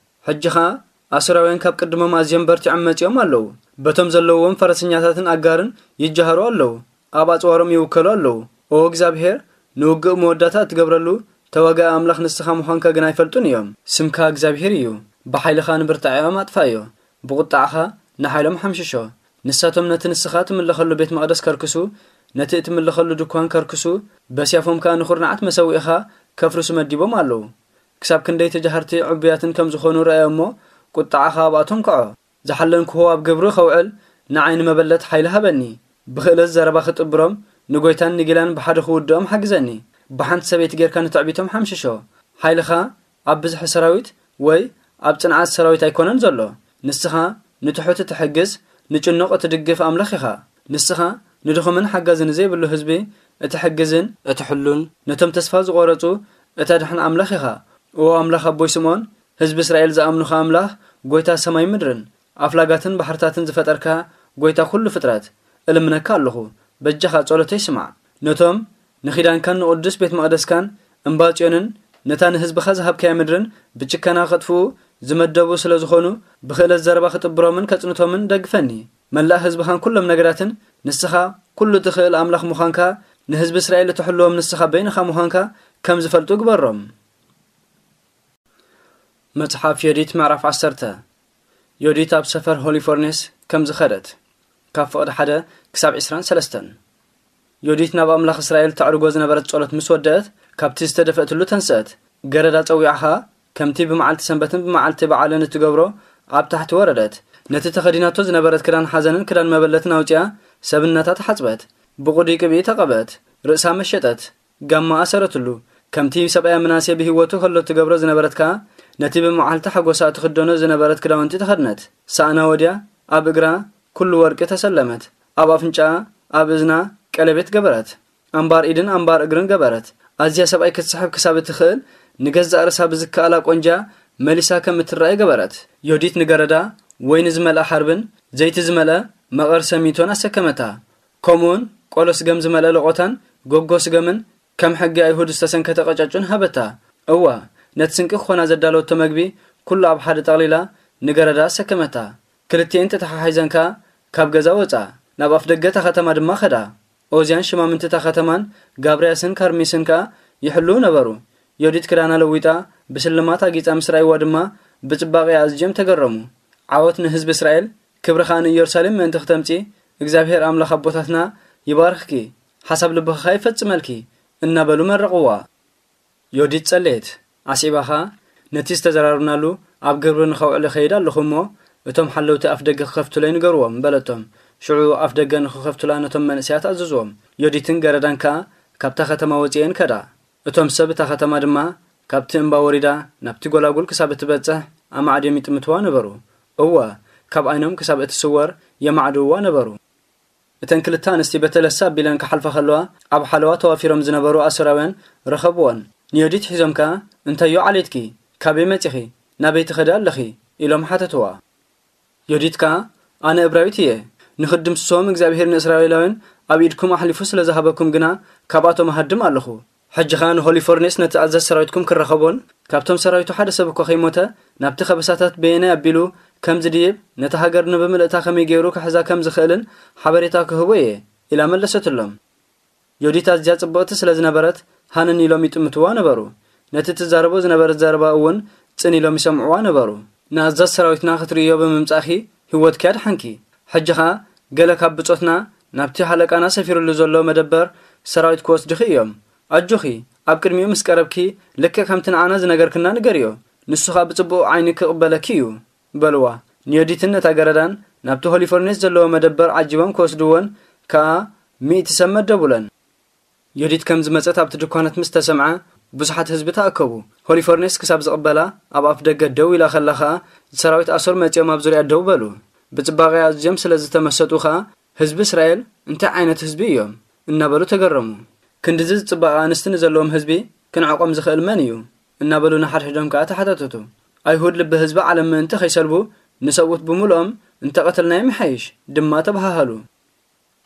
ሕጂ ኸኣ ኣሶራውያን ካብ ቅድሞም ኣዝዮም በርቲዖም መጺኦም ኣለዉ። በቶም ዘለውዎም ፈረሰኛታትን ኣጋርን ይጀሃሩ ኣለዉ። ኣብ ኣጽዋሮም ይውከሉ ኣለዉ። ኦ እግዚኣብሄር፣ ንውግእ መወዳእታ እትገብረሉ ተዋጋኢ ኣምላኽ ንስኻ ምዃንካ ግና ኣይፈልጡን እዮም። ስምካ እግዚኣብሄር እዩ። ብሓይልኻ ንብርታዐኦም ኣጥፍኣዮ፣ ብቑጣዕኻ ንሓይሎም ሓምሽሾ። ንሳቶም ነቲ ንስኻ ትምለኸሉ ቤት መቕደስ ከርክሱ፣ ነቲ እትምለኸሉ ድኳን ከርክሱ፣ በስያፎም ከኣ ንኹርናዓት መሰውኢኻ ከፍርሱ መዲቦም ኣለዉ። ክሳብ ክንደይ ተጃሃርቲ ዕቡያትን ከም ዝኾኑ ርኣዮ እሞ፣ ቁጥዓኻ ኣብኣቶም ክዖ። ዝሓለንክዎ ኣብ ግብሪ ከውዕል፣ ንዓይ ንመበለት ሓይሊ ሃበኒ። ብኽእለት ዘረባ ክጥብሮም፣ ንጎይታን ንጊላን ብሓደ ክውድኦም ሓግዘኒ። ብሓንቲ ሰበይቲ ጌርካ ንትዕቢቶም ሓምሽሾ። ሓይልኻ ኣብ ብዝሒ ሰራዊት ወይ ኣብ ጽንዓት ሰራዊት ኣይኮነን ዘሎ። ንስኻ ንትሑት እትሕግዝ፣ ንጭኑቕ እትድግፍ ኣምላኽ ኢኻ። ንስኻ ንድኹምን ሓጋዚ ንዘይብሉ ህዝቢ እትሕግዝን እትሕሉን፣ ነቶም ተስፋ ዝቖረጹ እተድሕን ኣምላኽ ኢኻ። እዎ ኣምላኽ ኣቦይ ስምኦን፣ ህዝቢ እስራኤል ዝኣምኑኻ ኣምላኽ፣ ጎይታ ሰማይ ምድርን ኣፍላጋትን ባሕርታትን ዝፈጠርካ፣ ጎይታ ኩሉ ፍጥረት፣ እልምነካ ኣለኹ፣ በጃኻ ጸሎተይ ስማዕ። ነቶም ንኺዳንካን ንቕዱስ ቤት መቕደስካን እምባ ጽዮንን ነታ ንህዝብኻ ዝሃብካያ ምድርን ብጭከና ከጥፍኡ ዝመደቡ ስለ ዝኾኑ፣ ብኽእለት ዘረባ ክጥብሮምን ከጽንቶምን ደግፈኒ። መላእ ህዝብኻን ኩሎም ነገዳትን ንስኻ ኩሉ ትኽእል ኣምላኽ ምዃንካ፣ ንህዝቢ እስራኤል እትሕልዎም ንስኻ በይንኻ ምዃንካ ከም ዝፈልጡ ግበሮም። መጽሓፍ ዮዲት ምዕራፍ ዓሰርተ። ዮዲት ኣብ ሰፈር ሆሊፎርኔስ ከም ዝኸደት። ካብ ፍቕዲ ሓደ ክሳብ ዕስራን ሰለስተን። ዮዲት ናብ ኣምላኽ እስራኤል ተዕርጎ ዝነበረት ጸሎት ምስ ወደአት፣ ካብቲ ዝተደፍአትሉ ተንስአት። ገረዳ ጸዊዓ ኸኣ፣ ከምቲ ብመዓልቲ ሰንበትን ብመዓልቲ በዓልን እትገብሮ፣ ኣብ ታሕቲ ወረደት። ነቲ ተኸዲናቶ ዝነበረት ክዳን ሓዘንን ክዳን መበለትን ኣውጺኣ፣ ሰብነታ ተሓጽበት። ብቑዲ ቅብኢ ተቐብአት። ርእሳ መሸጠት። ጋማ ኣሰረትሉ። ከምቲ ሰብኣያ ምናሴ ብህይወቱ ከሎ ትገብሮ ዝነበረት ከኣ፣ ነቲ ብመዓልቲ ሓጎሳ እትኽደኖ ዝነበረት ክዳውንቲ ተኸድነት። ሳእና ወድያ፣ ኣብ እግራ ኩሉ ወርቂ ተሰለመት። ኣብ ኣፍንጫኣ፣ ኣብ እዝና ቀለቤት ገበረት። ኣምባር ኢድን ኣምባር እግርን ገበረት። ኣዝያ ሰብኣይ ክትስሕብ ክሳብ እትኽእል፣ ንገዛእ ርእሳ ብዝከኣላ ቆንጃ መሊሳ ከም እትረኣይ ገበረት። ዮዲት ንገረዳ ወይኒ ዝመልአ ሓርብን ዘይቲ ዝመልአ መቐር ሰሚቶን ኣሰከመታ። ከምኡውን ቆሎ ስገም ዝመልአ ለቖታን ጎጎ ስገምን ከም ሕጊ ኣይሁድ ዝተሰንከተ ቀጫጩን ሃበታ። እዋ፣ ነቲ ስንቂ ክኾና ዘዳለወቶ መግቢ ኩሉ ኣብ ሓደ ጠቕሊላ ንገረዳ ኣሰከመታ። ክልቲኤን ተተሓሒዘን ከኣ ካብ ገዛ ወጻ፣ ናብ ኣፍደገ እታ ከተማ ድማ ኸዳ። ኦዝያን ሽማምንቲ እታ ከተማን ጋብርያስን ካርሚስን ከኣ ይሕልዉ ነበሩ። ዮዲት ክዳና ለዊጣ፣ ብስልማት ኣጊጻ ምስ ረኣይዋ ድማ፣ ብጽባቐኣ ኣዝዮም ተገረሙ። ዓወት ንህዝቢ እስራኤል፣ ክብሪ ኸኣ ንኢየሩሳሌም ምእንቲ ክተምጺ፣ እግዚኣብሄር ኣምላኽ ኣቦታትና ይባርኽኪ፣ ሓሳብ ልብኺ ኸኣ ይፈጽመልኪ፣ እናበሉ መረቕዋ። ዮዲት ጸለየት። ኣስዒባ ኸኣ፣ ነቲ ዝተዘራረብናሉ ኣብ ግብሪ ንኸውዕል እኸይድ ኣለኹ እሞ፣ እቶም ሓለውቲ ኣፍደገ ክኸፍቱለይ ንገርዎም፣ በለቶም። ሽዑ ኣፍደገ ንኽኸፍቱላ ነቶም መንእሰያት ኣዘዝዎም። ዮዲትን ገረዳን ከኣ ካብታ ከተማ ወጺኤን ከዳ። እቶም ሰብ እታ ከተማ ድማ ካብቲ እምባ ወሪዳ ናብቲ ጐላጉል ክሳብ እትበጽሕ ኣማዕድዮም ይጥምትዋ ነበሩ። እወ፣ ካብ ዓይኖም ክሳብ እትስወር የማዕድውዋ ነበሩ። እተን ክልተ ኣንስቲ በተለሳ ኣቢለን ክሓልፋ ከለዋ፣ ኣብ ሓለዋ ተዋፊሮም ዝነበሩ ኣሶራውያን ረኸብወን። ንዮዲት ሒዞም ከኣ፣ "እንታይዮ ዓሌትኪ? ካበይ መጺኺ? ናበይ ትኸዲ ኣለኺ?" ኢሎም ሓተትዋ። ዮዲት ከኣ፣ "ኣነ እብራዊት እየ። ንኽድምስሶም እግዚኣብሄር ንእስራኤላውያን ኣብ ኢድኩም ኣሕሊፉ ስለ ዝሃበኩም ግና፣ ካብኣቶም እሃድም ኣለኹ። ሕጂ ኸኣ ንሆሊፎርኔስ ነቲ ኣዛዚ ሰራዊትኩም ክረኸቦን፣ ካብቶም ሰራዊቱ ሓደ ሰብ እኳ ከይሞተ፣ ናብቲ ከበሳታት በየናይ ኣቢሉ ከም ዝድይብ፣ ነታ ሃገር ንብምልእታ ከመይ ገይሩ ክሕዛ ከም ዝኽእልን ሓበሬታ ክህቦ እየ" ኢላ መለሰትሎም። ዮዲት ኣዝያ ጽብቕቲ ስለ ዝነበረት፣ ሃነን ኢሎም ይጥምትዋ ነበሩ። ነቲ ትዛረቦ ዝነበረት ዘረባ እውን ጽን ኢሎም ይሰምዕዋ ነበሩ። "ንኣዛዚ ሰራዊትና ክትርእዮ ብምምጻእኪ፣ ህይወትኪ ኣድሓንኪ። ሕጂ ኸኣ፣ ገለ ካብ ብጾትና ናብቲ ሃለቃና ሰፊሩሉ ዘሎ መደበር ሰራዊት ክወስድኺ እዮም። ኣጆኺ፣ ኣብ ቅድሚኡ ምስ ቀረብኪ፣ ልክዕ ከምቲ ንዓና ዝነገርክና ንገርዮ። ንሱ ኸኣ ብጽቡቕ ዓይኒ ክቕበለኪ እዩ" በልዋ። ንዮዲትን ነታ ገረዳን ናብቲ ሆሊፎርኔስ ዘለዎ መደበር ዓጂቦም ክወስድወን ከኣ ሚእቲ ሰብ መደቡለን። ዮዲት ከም ዝመጸት ኣብቲ ድኳናት ምስ ተሰምዐ፣ ብዙሓት ህዝቢ ተኣከቡ። ሆሊፎርኔስ ክሳብ ዝቕበላ ኣብ ኣፍ ደገ ደው ኢላ ከላ ኸኣ፣ ሰራዊት ኣሶር መጺኦም ኣብ ዙርያ ደው በሉ። ብጽባቐኣ ኣዝዮም ስለ ዝተመሰጡ ኸኣ፣ "ህዝቢ እስራኤል እንታይ ዓይነት ህዝቢ እዮም?" እናበሉ ተገረሙ። "ክንድዚ ዝጽባቐ ኣንስቲ ንዘለዎም ህዝቢ ክንዕቆም ዝኽእል መን እዩ?" እናበሉ ንሓድሕዶም ከኣ ተሓታተቱ። "ኣይሁድ ልቢ ህዝቢ ዓለም ምእንቲ ኸይሰልቡ፣ ንሰብኡት ብምሉኦም እንተቐተልናዮም ይሓይሽ" ድማ ተበሃሃሉ።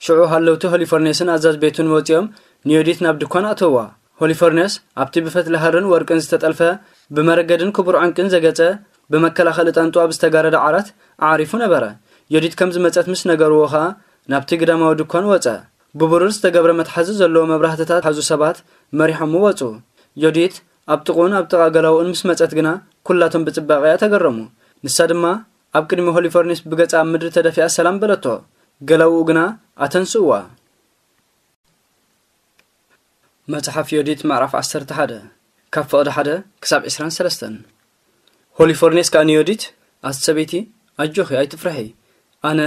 ሽዑ ሃለውቲ ሆሊፎርኔስን ኣዛዝ ቤቱን ወጺኦም ንዮዲት ናብ ድኳን ኣእተውዋ። ሆሊፎርኔስ ኣብቲ ብፈትሊ ሃርን ወርቅን ዝተጠልፈ፣ ብመረገድን ክቡር ዕንቅን ዘገጸ፣ ብመከላኸሊ ጣንጡ ኣብ ዝተጋረደ ዓራት ኣዕሪፉ ነበረ። ዮዲት ከም ዝመጸት ምስ ነገርዎ ኸኣ ናብቲ ግዳማዊ ድኳን ወጸ። ብብሩር ዝተገብረ መትሓዚ ዘለዎ መብራህትታት ዝሓዙ ሰባት መሪሖሙ ወጹ። ዮዲት ኣብ ጥቕኡን ኣብ ጥቓ ገላውኡን ምስ መጸት ግና፣ ኩላቶም ብጽባቐኣ ተገረሙ። ንሳ ድማ ኣብ ቅድሚ ሆሊፎርኔስ ብገጻ ኣብ ምድሪ ተደፊኣ ሰላም በለቶ። ገላውኡ ግና ኣተንስእዋ። መጽሓፍ ዮዲት ምዕራፍ ዓሰርተ ሓደ፣ ካብ ፍቕዲ ሓደ ክሳብ ዕስራን ሰለስተን። ሆሊፎርኔስ ከኣ ንዮዲት፣ "ኣቲ ሰበይቲ፣ ኣጆኺ፣ ኣይትፍርሒ። ኣነ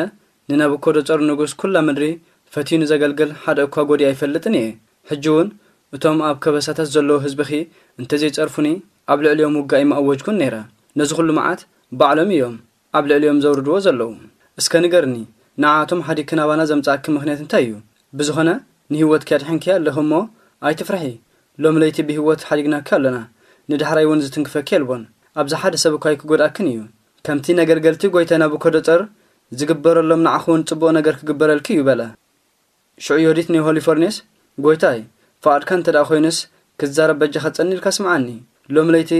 ንናቡኮዶጾር ንጉስ ኩላ ምድሪ ፈትዩ ንዘገልግል ሓደ እኳ ጎዲኣ ኣይፈልጥን እየ። ሕጂ እውን እቶም ኣብ ከበሳታት ዘለዉ ህዝብኺ እንተዘይጸርፉኒ፣ ኣብ ልዕሊኦም ውግእ ኣይምኣወጅኩን ነይረ። ነዚ ኩሉ መዓት ባዕሎም እዮም ኣብ ልዕሊኦም ዘውርድዎ ዘለዉ። እስከ ንገርኒ፣ ንዓኣቶም ሓዲግኪ ናባና ዘምጻእኪ ምኽንያት እንታይ እዩ? ብዝኾነ ንህይወትኪ ኣድሒንኪ ኣለኺ እሞ ኣይትፍርሒ። ሎሚ ለይቲ ብህይወት ሓዲግናኪ ኣለና። ንዳሕራይ እውን ዝትንክፈኪ የልቦን። ኣብዚ ሓደ ሰብ እኳ ኣይክጎድኣክን እዩ። ከምቲ ነገልገልቲ ጎይታይ ናቡኮዶጸር ዝግበረሎም ንዓኺ እውን ጽቡቕ ነገር ክግበረልኪ እዩ" በለ። ሽዑ ዮዲት ንሆሊፎርኔስ፣ "ጎይታይ፣ ፍቓድካ እንተ ደኣ ኮይኑስ፣ ክዛረብ በጃኻ ጸኒልካ ስምዓኒ። ሎም ለይቲ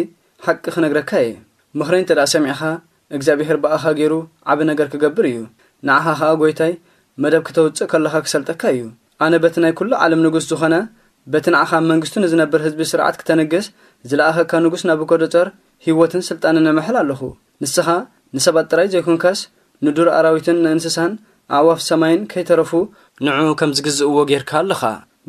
ሓቂ ክነግረካ እየ። ምኽረይ እንተ ደኣ ሰሚዕኻ፣ እግዚኣብሔር ብኣኻ ገይሩ ዓቢ ነገር ክገብር እዩ። ንዓኻ ኸኣ ጐይታይ መደብ ክተውጽእ ከለኻ ክሰልጠካ እዩ። ኣነ በቲ ናይ ኩሉ ዓለም ንጉስ ዝኾነ፣ በቲ ንዓኻ ኣብ መንግስቱ ንዝነብር ህዝቢ ስርዓት ክተንግስ ዝለኣኸካ ንጉስ ናቡከደጸር ህይወትን ስልጣንን እምሕል ኣለኹ። ንስኻ ንሰባት ጥራይ ዘይኮንካስ፣ ንዱር ኣራዊትን ንእንስሳን ኣዕዋፍ ሰማይን ከይተረፉ ንዕኡ ከም ዝግዝእዎ ጌርካ ኣለኻ።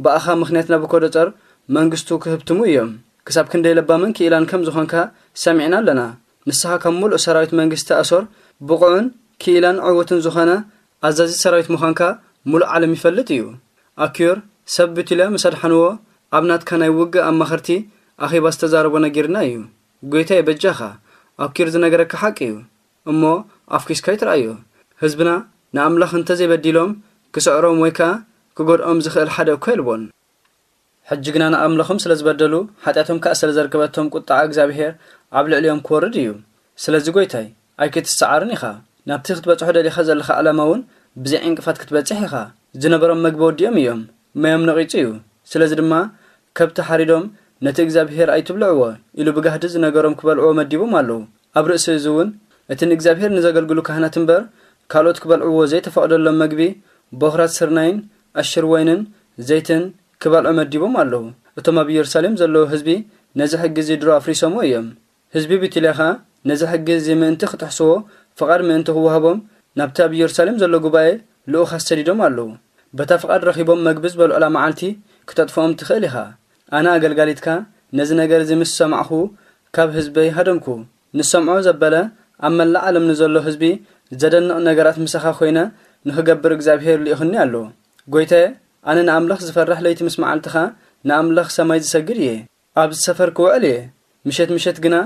ብኣኻ ምኽንያት ናቡከደጸር መንግስቱ ክህብትሙ እዮም። ክሳብ ክንደይ ለባምን ክኢላን ከም ዝኾንካ ሰሚዕና ኣለና። ንስኻ ካብ ምሉእ ሰራዊት መንግስቲ ኣሶር ብቑዕን ክኢላን ዕዉትን ዝኾነ ኣዛዚ ሰራዊት ምዃንካ ምሉእ ዓለም ይፈልጥ እዩ። ኣኪዮር ሰብ ብቱልያ ምስ ኣድሓንዎ ኣብ ናትካ ናይ ውግእ ኣማኸርቲ ኣኼባ ዝተዛረቦ ነጊርና እዩ። ጐይታየ በጃኻ፣ ኣኪር ዝነገረካ ሓቂ እዩ። እሞ ኣፍኲስካ ኣይትርኣዮ። ህዝብና ንኣምላኽ እንተ ዘይበዲሎም ክስዕሮም ወይ ከኣ ክጎድኦም ዝኽእል ሓደ እኳ የልቦን። ሕጂ ግና ንኣምላኾም ስለ ዝበደሉ፣ ሓጢኣቶም ከኣ ስለ ዘርክበቶም ቁጥዓ እግዚኣብሔር ኣብ ልዕሊኦም ክወርድ እዩ። ስለዚ ጐይታይ ኣይክትሰዓርን ኢኻ። ናብቲ ክትበጽሖ ደሊኻ ዘለኻ ዕላማ እውን ብዘይ ዕንቅፋት ክትበጽሕ ኢኻ። ዝነበሮም መግቢ ወዲኦም እዮም። ማዮም ነቒጹ እዩ። ስለዚ ድማ ከብቲ ሓሪዶም ነቲ እግዚኣብሔር ኣይትብልዕዎ ኢሉ ብጋህዲ ዝነገሮም ክበልዕዎ መዲቦም ኣለዉ። ኣብ ርእሲ እዚ እውን እቲ ንእግዚኣብሔር ንዘገልግሉ ካህናት እምበር ካልኦት ክበልዕዎ ዘይተፈቕደሎም መግቢ በኹራት ስርናይን ዕሽር ወይንን ዘይትን ክበልዑ መዲቦም ኣለዉ። እቶም ኣብ ኢየሩሳሌም ዘለዉ ህዝቢ ነዚ ሕጊ እዚ ድሮ ኣፍሪሶምዎ እዮም። ህዝቢ ቢቱልያ ኸኣ ነዚ ሕጊ እዚ ምእንቲ ክጥሕስዎ ፍቓድ ምእንቲ ክወሃቦም ናብቲ ኣብ ኢየሩሳሌም ዘሎ ጉባኤ ልኡኻት ሰዲዶም ኣለዉ። በታ ፍቓድ ረኺቦም መግቢ ዝበልዑላ መዓልቲ ክተጥፍኦም ትኽእል ኢኻ። ኣነ ኣገልጋሊትካ ነዚ ነገር እዚ ምስ ሰማዕኹ ካብ ህዝበይ ሃደምኩ። ንሰምዖ ዘበለ ኣብ መላእ ዓለም ንዘሎ ህዝቢ ዘደንቕ ነገራት ምሳኻ ኮይነ ንኽገብር እግዚኣብሔር ልኢኹኒ ኣሎ። ጐይታየ፣ ኣነ ንኣምላኽ ዝፈርሕ ለይቲ ምስ መዓልትኻ ንኣምላኽ ሰማይ ዝሰግድ እየ። ኣብዚ ሰፈር ክውዕል እየ። ምሸት ምሸት ግና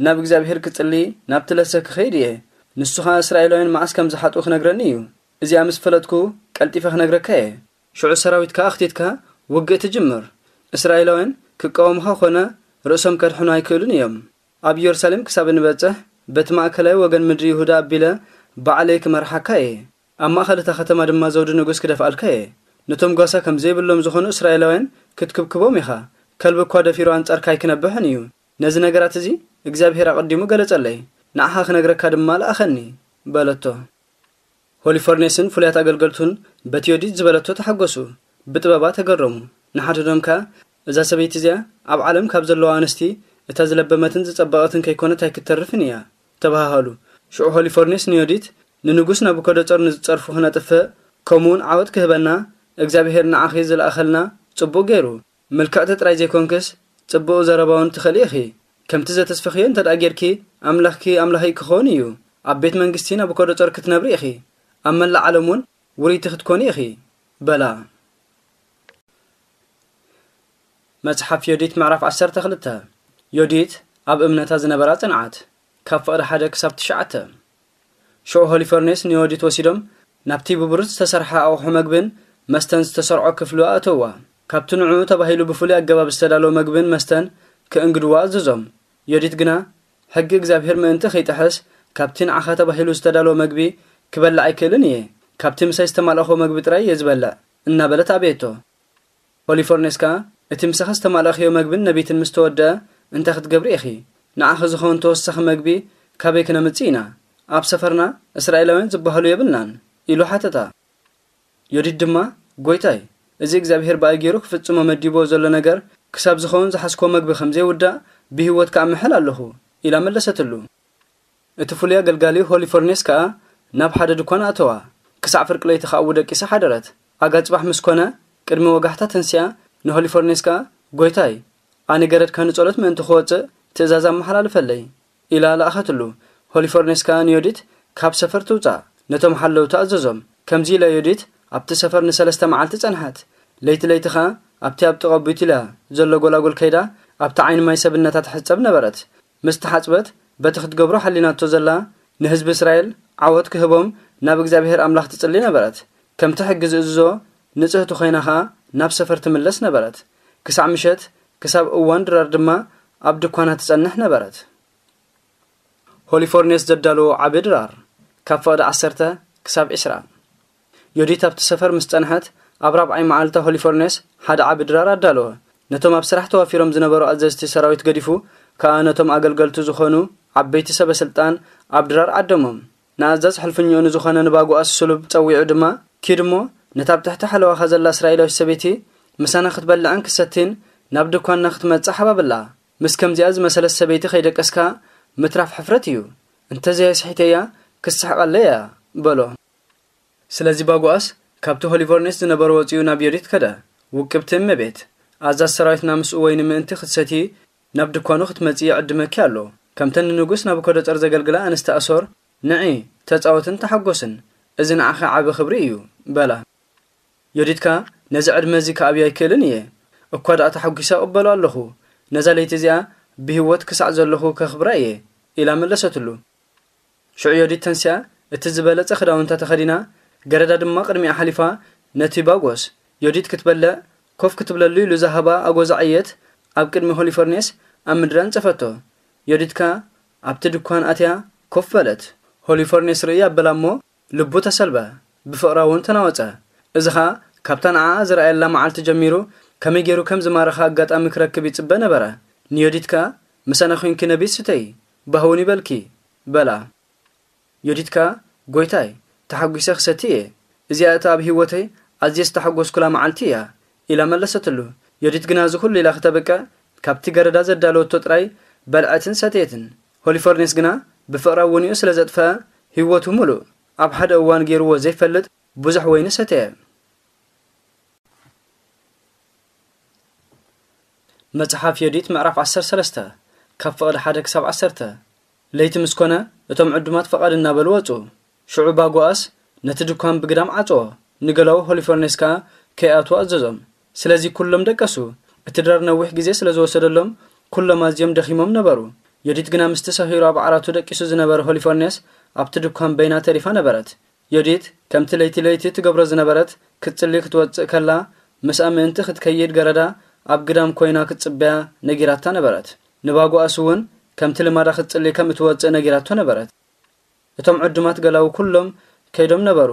ናብ እግዚኣብሔር ክጽሊ ናብቲ ለሰ ክኸይድ እየ። ንሱ ኸኣ እስራኤላውያን መዓስ ከም ዝሓጥኡ ክነግረኒ እዩ። እዚኣ ምስ ፈለጥኩ ቀልጢፈ ክነግረካ እየ። ሽዑ ሰራዊትካ ኣኽቲትካ ውግእ ትጅምር። እስራኤላውያን ክቃወሙኻ ኾነ ርእሶም ከድሕኑ ኣይክእሉን እዮም። ኣብ ኢየሩሳሌም ክሳብ እንበጽሕ በቲ ማእከላይ ወገን ምድሪ ይሁዳ ኣቢለ ባዕለይ ክመርሓካ እየ። ኣብ ማእከል እታ ከተማ ድማ ዘውዲ ንጉስ ክደፍኣልካ እየ። ነቶም ጓሳ ከም ዘይብሎም ዝኾኑ እስራኤላውያን ክትክብክቦም ኢኻ። ከልቢ እኳ ደፊሩ ኣንጻርካ ኣይክነብሕን እዩ። ነዚ ነገራት እዚ እግዚኣብሔር ኣቐዲሙ ገለጸለይ። ንዓኻ ክነግረካ ድማ ለኣኸኒ በለቶ። ሆሊፎርኔስን ፍሉያት ኣገልገልቱን በቲ ዮዲት ዝበለቶ ተሓጎሱ፣ ብጥበባ ተገረሙ። ንሓድዶም ከኣ፣ "እዛ ሰበይቲ እዚኣ ኣብ ዓለም ካብ ዘለዋ ኣንስቲ እታ ዝለበመትን ዝጸበቐትን ከይኮነት ኣይክተርፍን እያ" ተባሃሃሉ። ሽዑ ሆሊፎርኔስ ንዮዲት፣ "ንንጉስ ናቡከደጸር ንዝጸርፉ ክነጥፍእ፣ ከምኡውን ዓወት ክህበና እግዚኣብሔር ንዓኺ ዝለኣኸልና ጽቡቕ ገይሩ። ምልክዕቲ ጥራይ ዘይኮንክስ ጽቡቕ ዘረባ እውን ትኽእሊ ኢኺ። ከምቲ ዘተስፈኽዮ እንተ ደኣ ጌርኪ፣ ኣምላኽኪ ኣምላኸይ ክኸውን እዩ። ኣብ ቤት መንግስቲ ናቡከደጸር ክትነብሪ ኢኺ። ኣብ መላእ ዓለም እውን ውርይቲ ክትኮኒ ኢኺ" በላ። መጽሓፍ ዮዲት ምዕራፍ ዓሰርተ ክልተ። ዮዲት ኣብ እምነታ ዝነበራ ጽንዓት፣ ካብ ፍቕዲ ሓደ ክሳብ ትሽዓተ። ሽዑ ሆሊፈርኔስ ንዮዲት ወሲዶም ናብቲ ብብሩር ዝተሰርሐ ኣቑሑ መግብን መስተን ዝተሰርዖ ክፍሉ ኣእተውዋ። ካብቲ ንዕኡ ተባሂሉ ብፍሉይ ኣገባብ ዝተዳለወ መግብን መስተን ክእንግድዋ ኣዘዞም። ዮዲት ግና፣ "ሕጊ እግዚኣብሔር ምእንቲ ከይጥሕስ፣ ካብቲ ንዓኻ ተባሂሉ ዝተዳለወ መግቢ ክበልዕ ኣይክእልን እየ። ካብቲ ምሳይ ዝተማልእኹ መግቢ ጥራይ እየ ዝበልዕ" እናበለት ኣበየቶ። ሆሊፎርኔስ ከኣ፣ "እቲ ምሳኺ ዝተማልእኽዮ መግብን ነቢትን ምስ ተወድአ፣ እንታይ ክትገብሪ ኢኺ? ንዓኺ ዝኸውን ተወሳኺ መግቢ ካበይ ክነምጽእ ኢና? ኣብ ሰፈርና እስራኤላውያን ዝበሃሉ የብልናን" ኢሉ ሓተታ። ዮዲት ድማ፣ "ጐይታይ፣ እዚ እግዚኣብሔር ብኣይ ገይሩ ክፍጽሞ መዲብዎ ዘሎ ነገር ክሳብ ዝኸውን ዝሓዝክዎ መግቢ ከም ዘይውዳእ ብህይወት ከኣ ምሕል ኣለኹ" ኢላ መለሰትሉ። እቲ ፍሉይ ኣገልጋሊ ሆሊፎርኔስ ከኣ ናብ ሓደ ድኳን ኣተዋ። ክሳዕ ፍርቂ ለይቲ ከኣ ኣብኡ ደቂሳ ሓደረት። ኣጋ ጽባሕ ምስ ኮነ፣ ቅድሚ ወጋሕታ ተንሲኣ ንሆሊፎርኔስ ከኣ፣ "ጐይታይ፣ ኣነ ገረድካ ንጸሎት ምእንቲ ክወጽእ ትእዛዝ ኣመሓላልፈለይ" ኢላ ለኣኸትሉ። ሆሊፎርኔስ ከኣ ንዮዲት፣ "ካብ ሰፈር ትውጻእ" ነቶም ሓለውቲ ኣዘዞም። ከምዚ ኢላ ዮዲት ኣብቲ ሰፈር ንሰለስተ መዓልቲ ጸንሐት። ለይቲ ለይቲ ከኣ ኣብቲ ኣብ ጥቓ ቢቱልያ ዘሎ ጐላጉል ከይዳ ኣብቲ ዓይኒ ማይ ሰብነታ ትሕጸብ ነበረት። ምስ ተሓጽበት፣ በቲ ክትገብሮ ሓሊናቶ ዘላ ንህዝቢ እስራኤል ዓወት ክህቦም ናብ እግዚኣብሔር ኣምላኽ ትጽሊ ነበረት። ከምቲ ሕጊ ዝእዝዞ ንጽህቲ ኮይና ኸኣ ናብ ሰፈር ትምለስ ነበረት። ክሳዕ ምሸት፣ ክሳብ እዋን ድራር ድማ ኣብ ድኳና ትጸንሕ ነበረት። ሆሊፎርኔስ ዘዳለዎ ዓቢ ድራር፣ ካብ ፍቕዲ ዓሰርተ ክሳብ ዕስራ። ዮዲት ኣብቲ ሰፈር ምስ ጸንሐት፣ ኣብ ራብዓይ መዓልታ ሆሊፎርኔስ ሓደ ዓቢ ድራር ኣዳለወ። ነቶም ኣብ ስራሕ ተዋፊሮም ዝነበሩ ኣዘዝቲ ሰራዊት ገዲፉ ከኣ ነቶም ኣገልገልቱ ዝኾኑ ዓበይቲ ሰበ ስልጣን ኣብ ድራር ዓደሞም። ንኣዛዝ ሕልፍኛኡ ንዝኾነ ንባጉኣስ ስሉብ ጸዊዑ ድማ፣ "ኪድ እሞ ነታ ኣብ ትሕቲ ሓለዋኻ ዘላ እስራኤላዊት ሰበይቲ ምሳና ክትበልዕን ክሰትን ናብ ድኳንና ክትመጽእ ሓባብላ። ምስ ከምዚኣ ዝመሰለት ሰበይቲ ከይደቀስካ ምትራፍ ሕፍረት እዩ። እንተዘይስሒተያ ክስሕቐለይ እያ" በሎ። ስለዚ ባጉኣስ ካብቲ ሆሊፎርኔስ ዝነበሮ ወጺኡ ናብ ዮዲት ከደ። "ውቅብቲ እመቤት፣ ኣዛዝ ሰራዊትና ምስኡ ወይኒ ምእንቲ ክትሰቲ ናብ ድኳኑ ክትመጺ ይዕድመኪ ኣሎ። ከምተን ንንጉስ ናቡከደጸር ዘገልግላ ኣንስቲ ኣሶር፣ ንዒ፣ ተጻወትን ተሓጎስን፣ እዚ ንዓኺ ዓቢ ክብሪ እዩ" በላ። ዮዲት ከኣ፣ "ነዚ ዕድመ እዚ ክኣብዮ ኣይክእልን እየ። እኳ ደኣ ተሓጒሰ እቕበሎ ኣለኹ። ነዛ ለይቲ እዚኣ ብህይወት ክሳዕ ዘለኹ ከኽብራ እየ" ኢላ መለሰትሉ። ሽዑ ዮዲት ተንሲኣ፣ እቲ ዝበለጸ ክዳውንታ ተኸዲና፣ ገረዳ ድማ ቅድሚኣ ሓሊፋ፣ ነቲ ባጎስ፣ ዮዲት ክትበልዕ ኮፍ ክትብለሉ ኢሉ ዝሃባ ኣጎዛ ዕየት ኣብ ቅድሚ ሆሊፎርኔስ ኣብ ምድሪ ኣንጸፈቶ። ዮዲት ከኣ ኣብቲ ድኳን ኣትያ ኮፍ በለት። ሆሊፎርኔስ ርእይ ኣበላ እሞ ልቡ ተሰልበ፣ ብፍቕራ እውን ተናወጸ። እዚ ኸኣ ካብታ ንዓኣ ዝረኣየላ መዓልቲ ጀሚሩ ከመይ ገይሩ ከም ዝማረኻ ኣጋጣሚ ክረክብ ይጽበ ነበረ። ንዮዲት ከኣ፣ "ምሳና ኮይንኪ ነቢት ስተዪ፣ ባህውን ይበልኪ" በላ። ዮዲት ከኣ፣ "ጐይታይ፣ ተሓጒሰ ክሰቲ እየ። እዚኣ እታ ኣብ ህይወተይ ኣዝየ ዝተሓጐስኩላ መዓልቲ እያ" ኢላ መለሰትሉ። ዮዲት ግና እዚ ኹሉ ኢላ ክተብቅዕ፣ ካብቲ ገረዳ ዘዳለወቶ ጥራይ በልዐትን ሰተየትን። ሆሊፎርኔስ ግና ብፍቕራ ውንኡ ስለ ዘጥፈኣ፣ ህይወቱ ምሉእ ኣብ ሓደ እዋን ገይርዎ ዘይፈልጥ ብዙሕ ወይኒ ሰተየ። መጽሓፍ ዮዲት ምዕራፍ ዓሰርተ ሰለስተ፣ ካብ ፍቕዲ ሓደ ክሳብ ዓሰርተ። ለይቲ ምስ ኮነ፣ እቶም ዕዱማት ፈቓድ እናበሉ ወጹ። ሽዑ ባጎኣስ ነቲ ድኳን ብግዳም ዓጽዎ፣ ንገላዉ ሆሊፎርኔስ ከኣ ከይኣትዉ ኣዘዞም። ስለዚ ኩሎም ደቀሱ። እቲ ድራር ነዊሕ ግዜ ስለ ዝወሰደሎም፣ ኩሎም ኣዝዮም ደኺሞም ነበሩ። ዮዲት ግና ምስቲ ሰኺሩ ኣብ ዓራቱ ደቂሱ ዝነበረ ሆሊፎርኔስ ኣብቲ ድኳን በይና ተሪፋ ነበረት። ዮዲት ከምቲ ለይቲ ለይቲ ትገብሮ ዝነበረት፣ ክትጽሊ ክትወጽእ ከላ፣ ምስኣ ምእንቲ ክትከይድ ገረዳ ኣብ ግዳም ኮይና ክትጽበያ ነጊራታ ነበረት። ንባጎኣስ እውን ከምቲ ልማዳ ክትጽሊ ከም እትወጽእ ነጊራቶ ነበረት። እቶም ዕዱማት ገላዉ ኩሎም ከይዶም ነበሩ።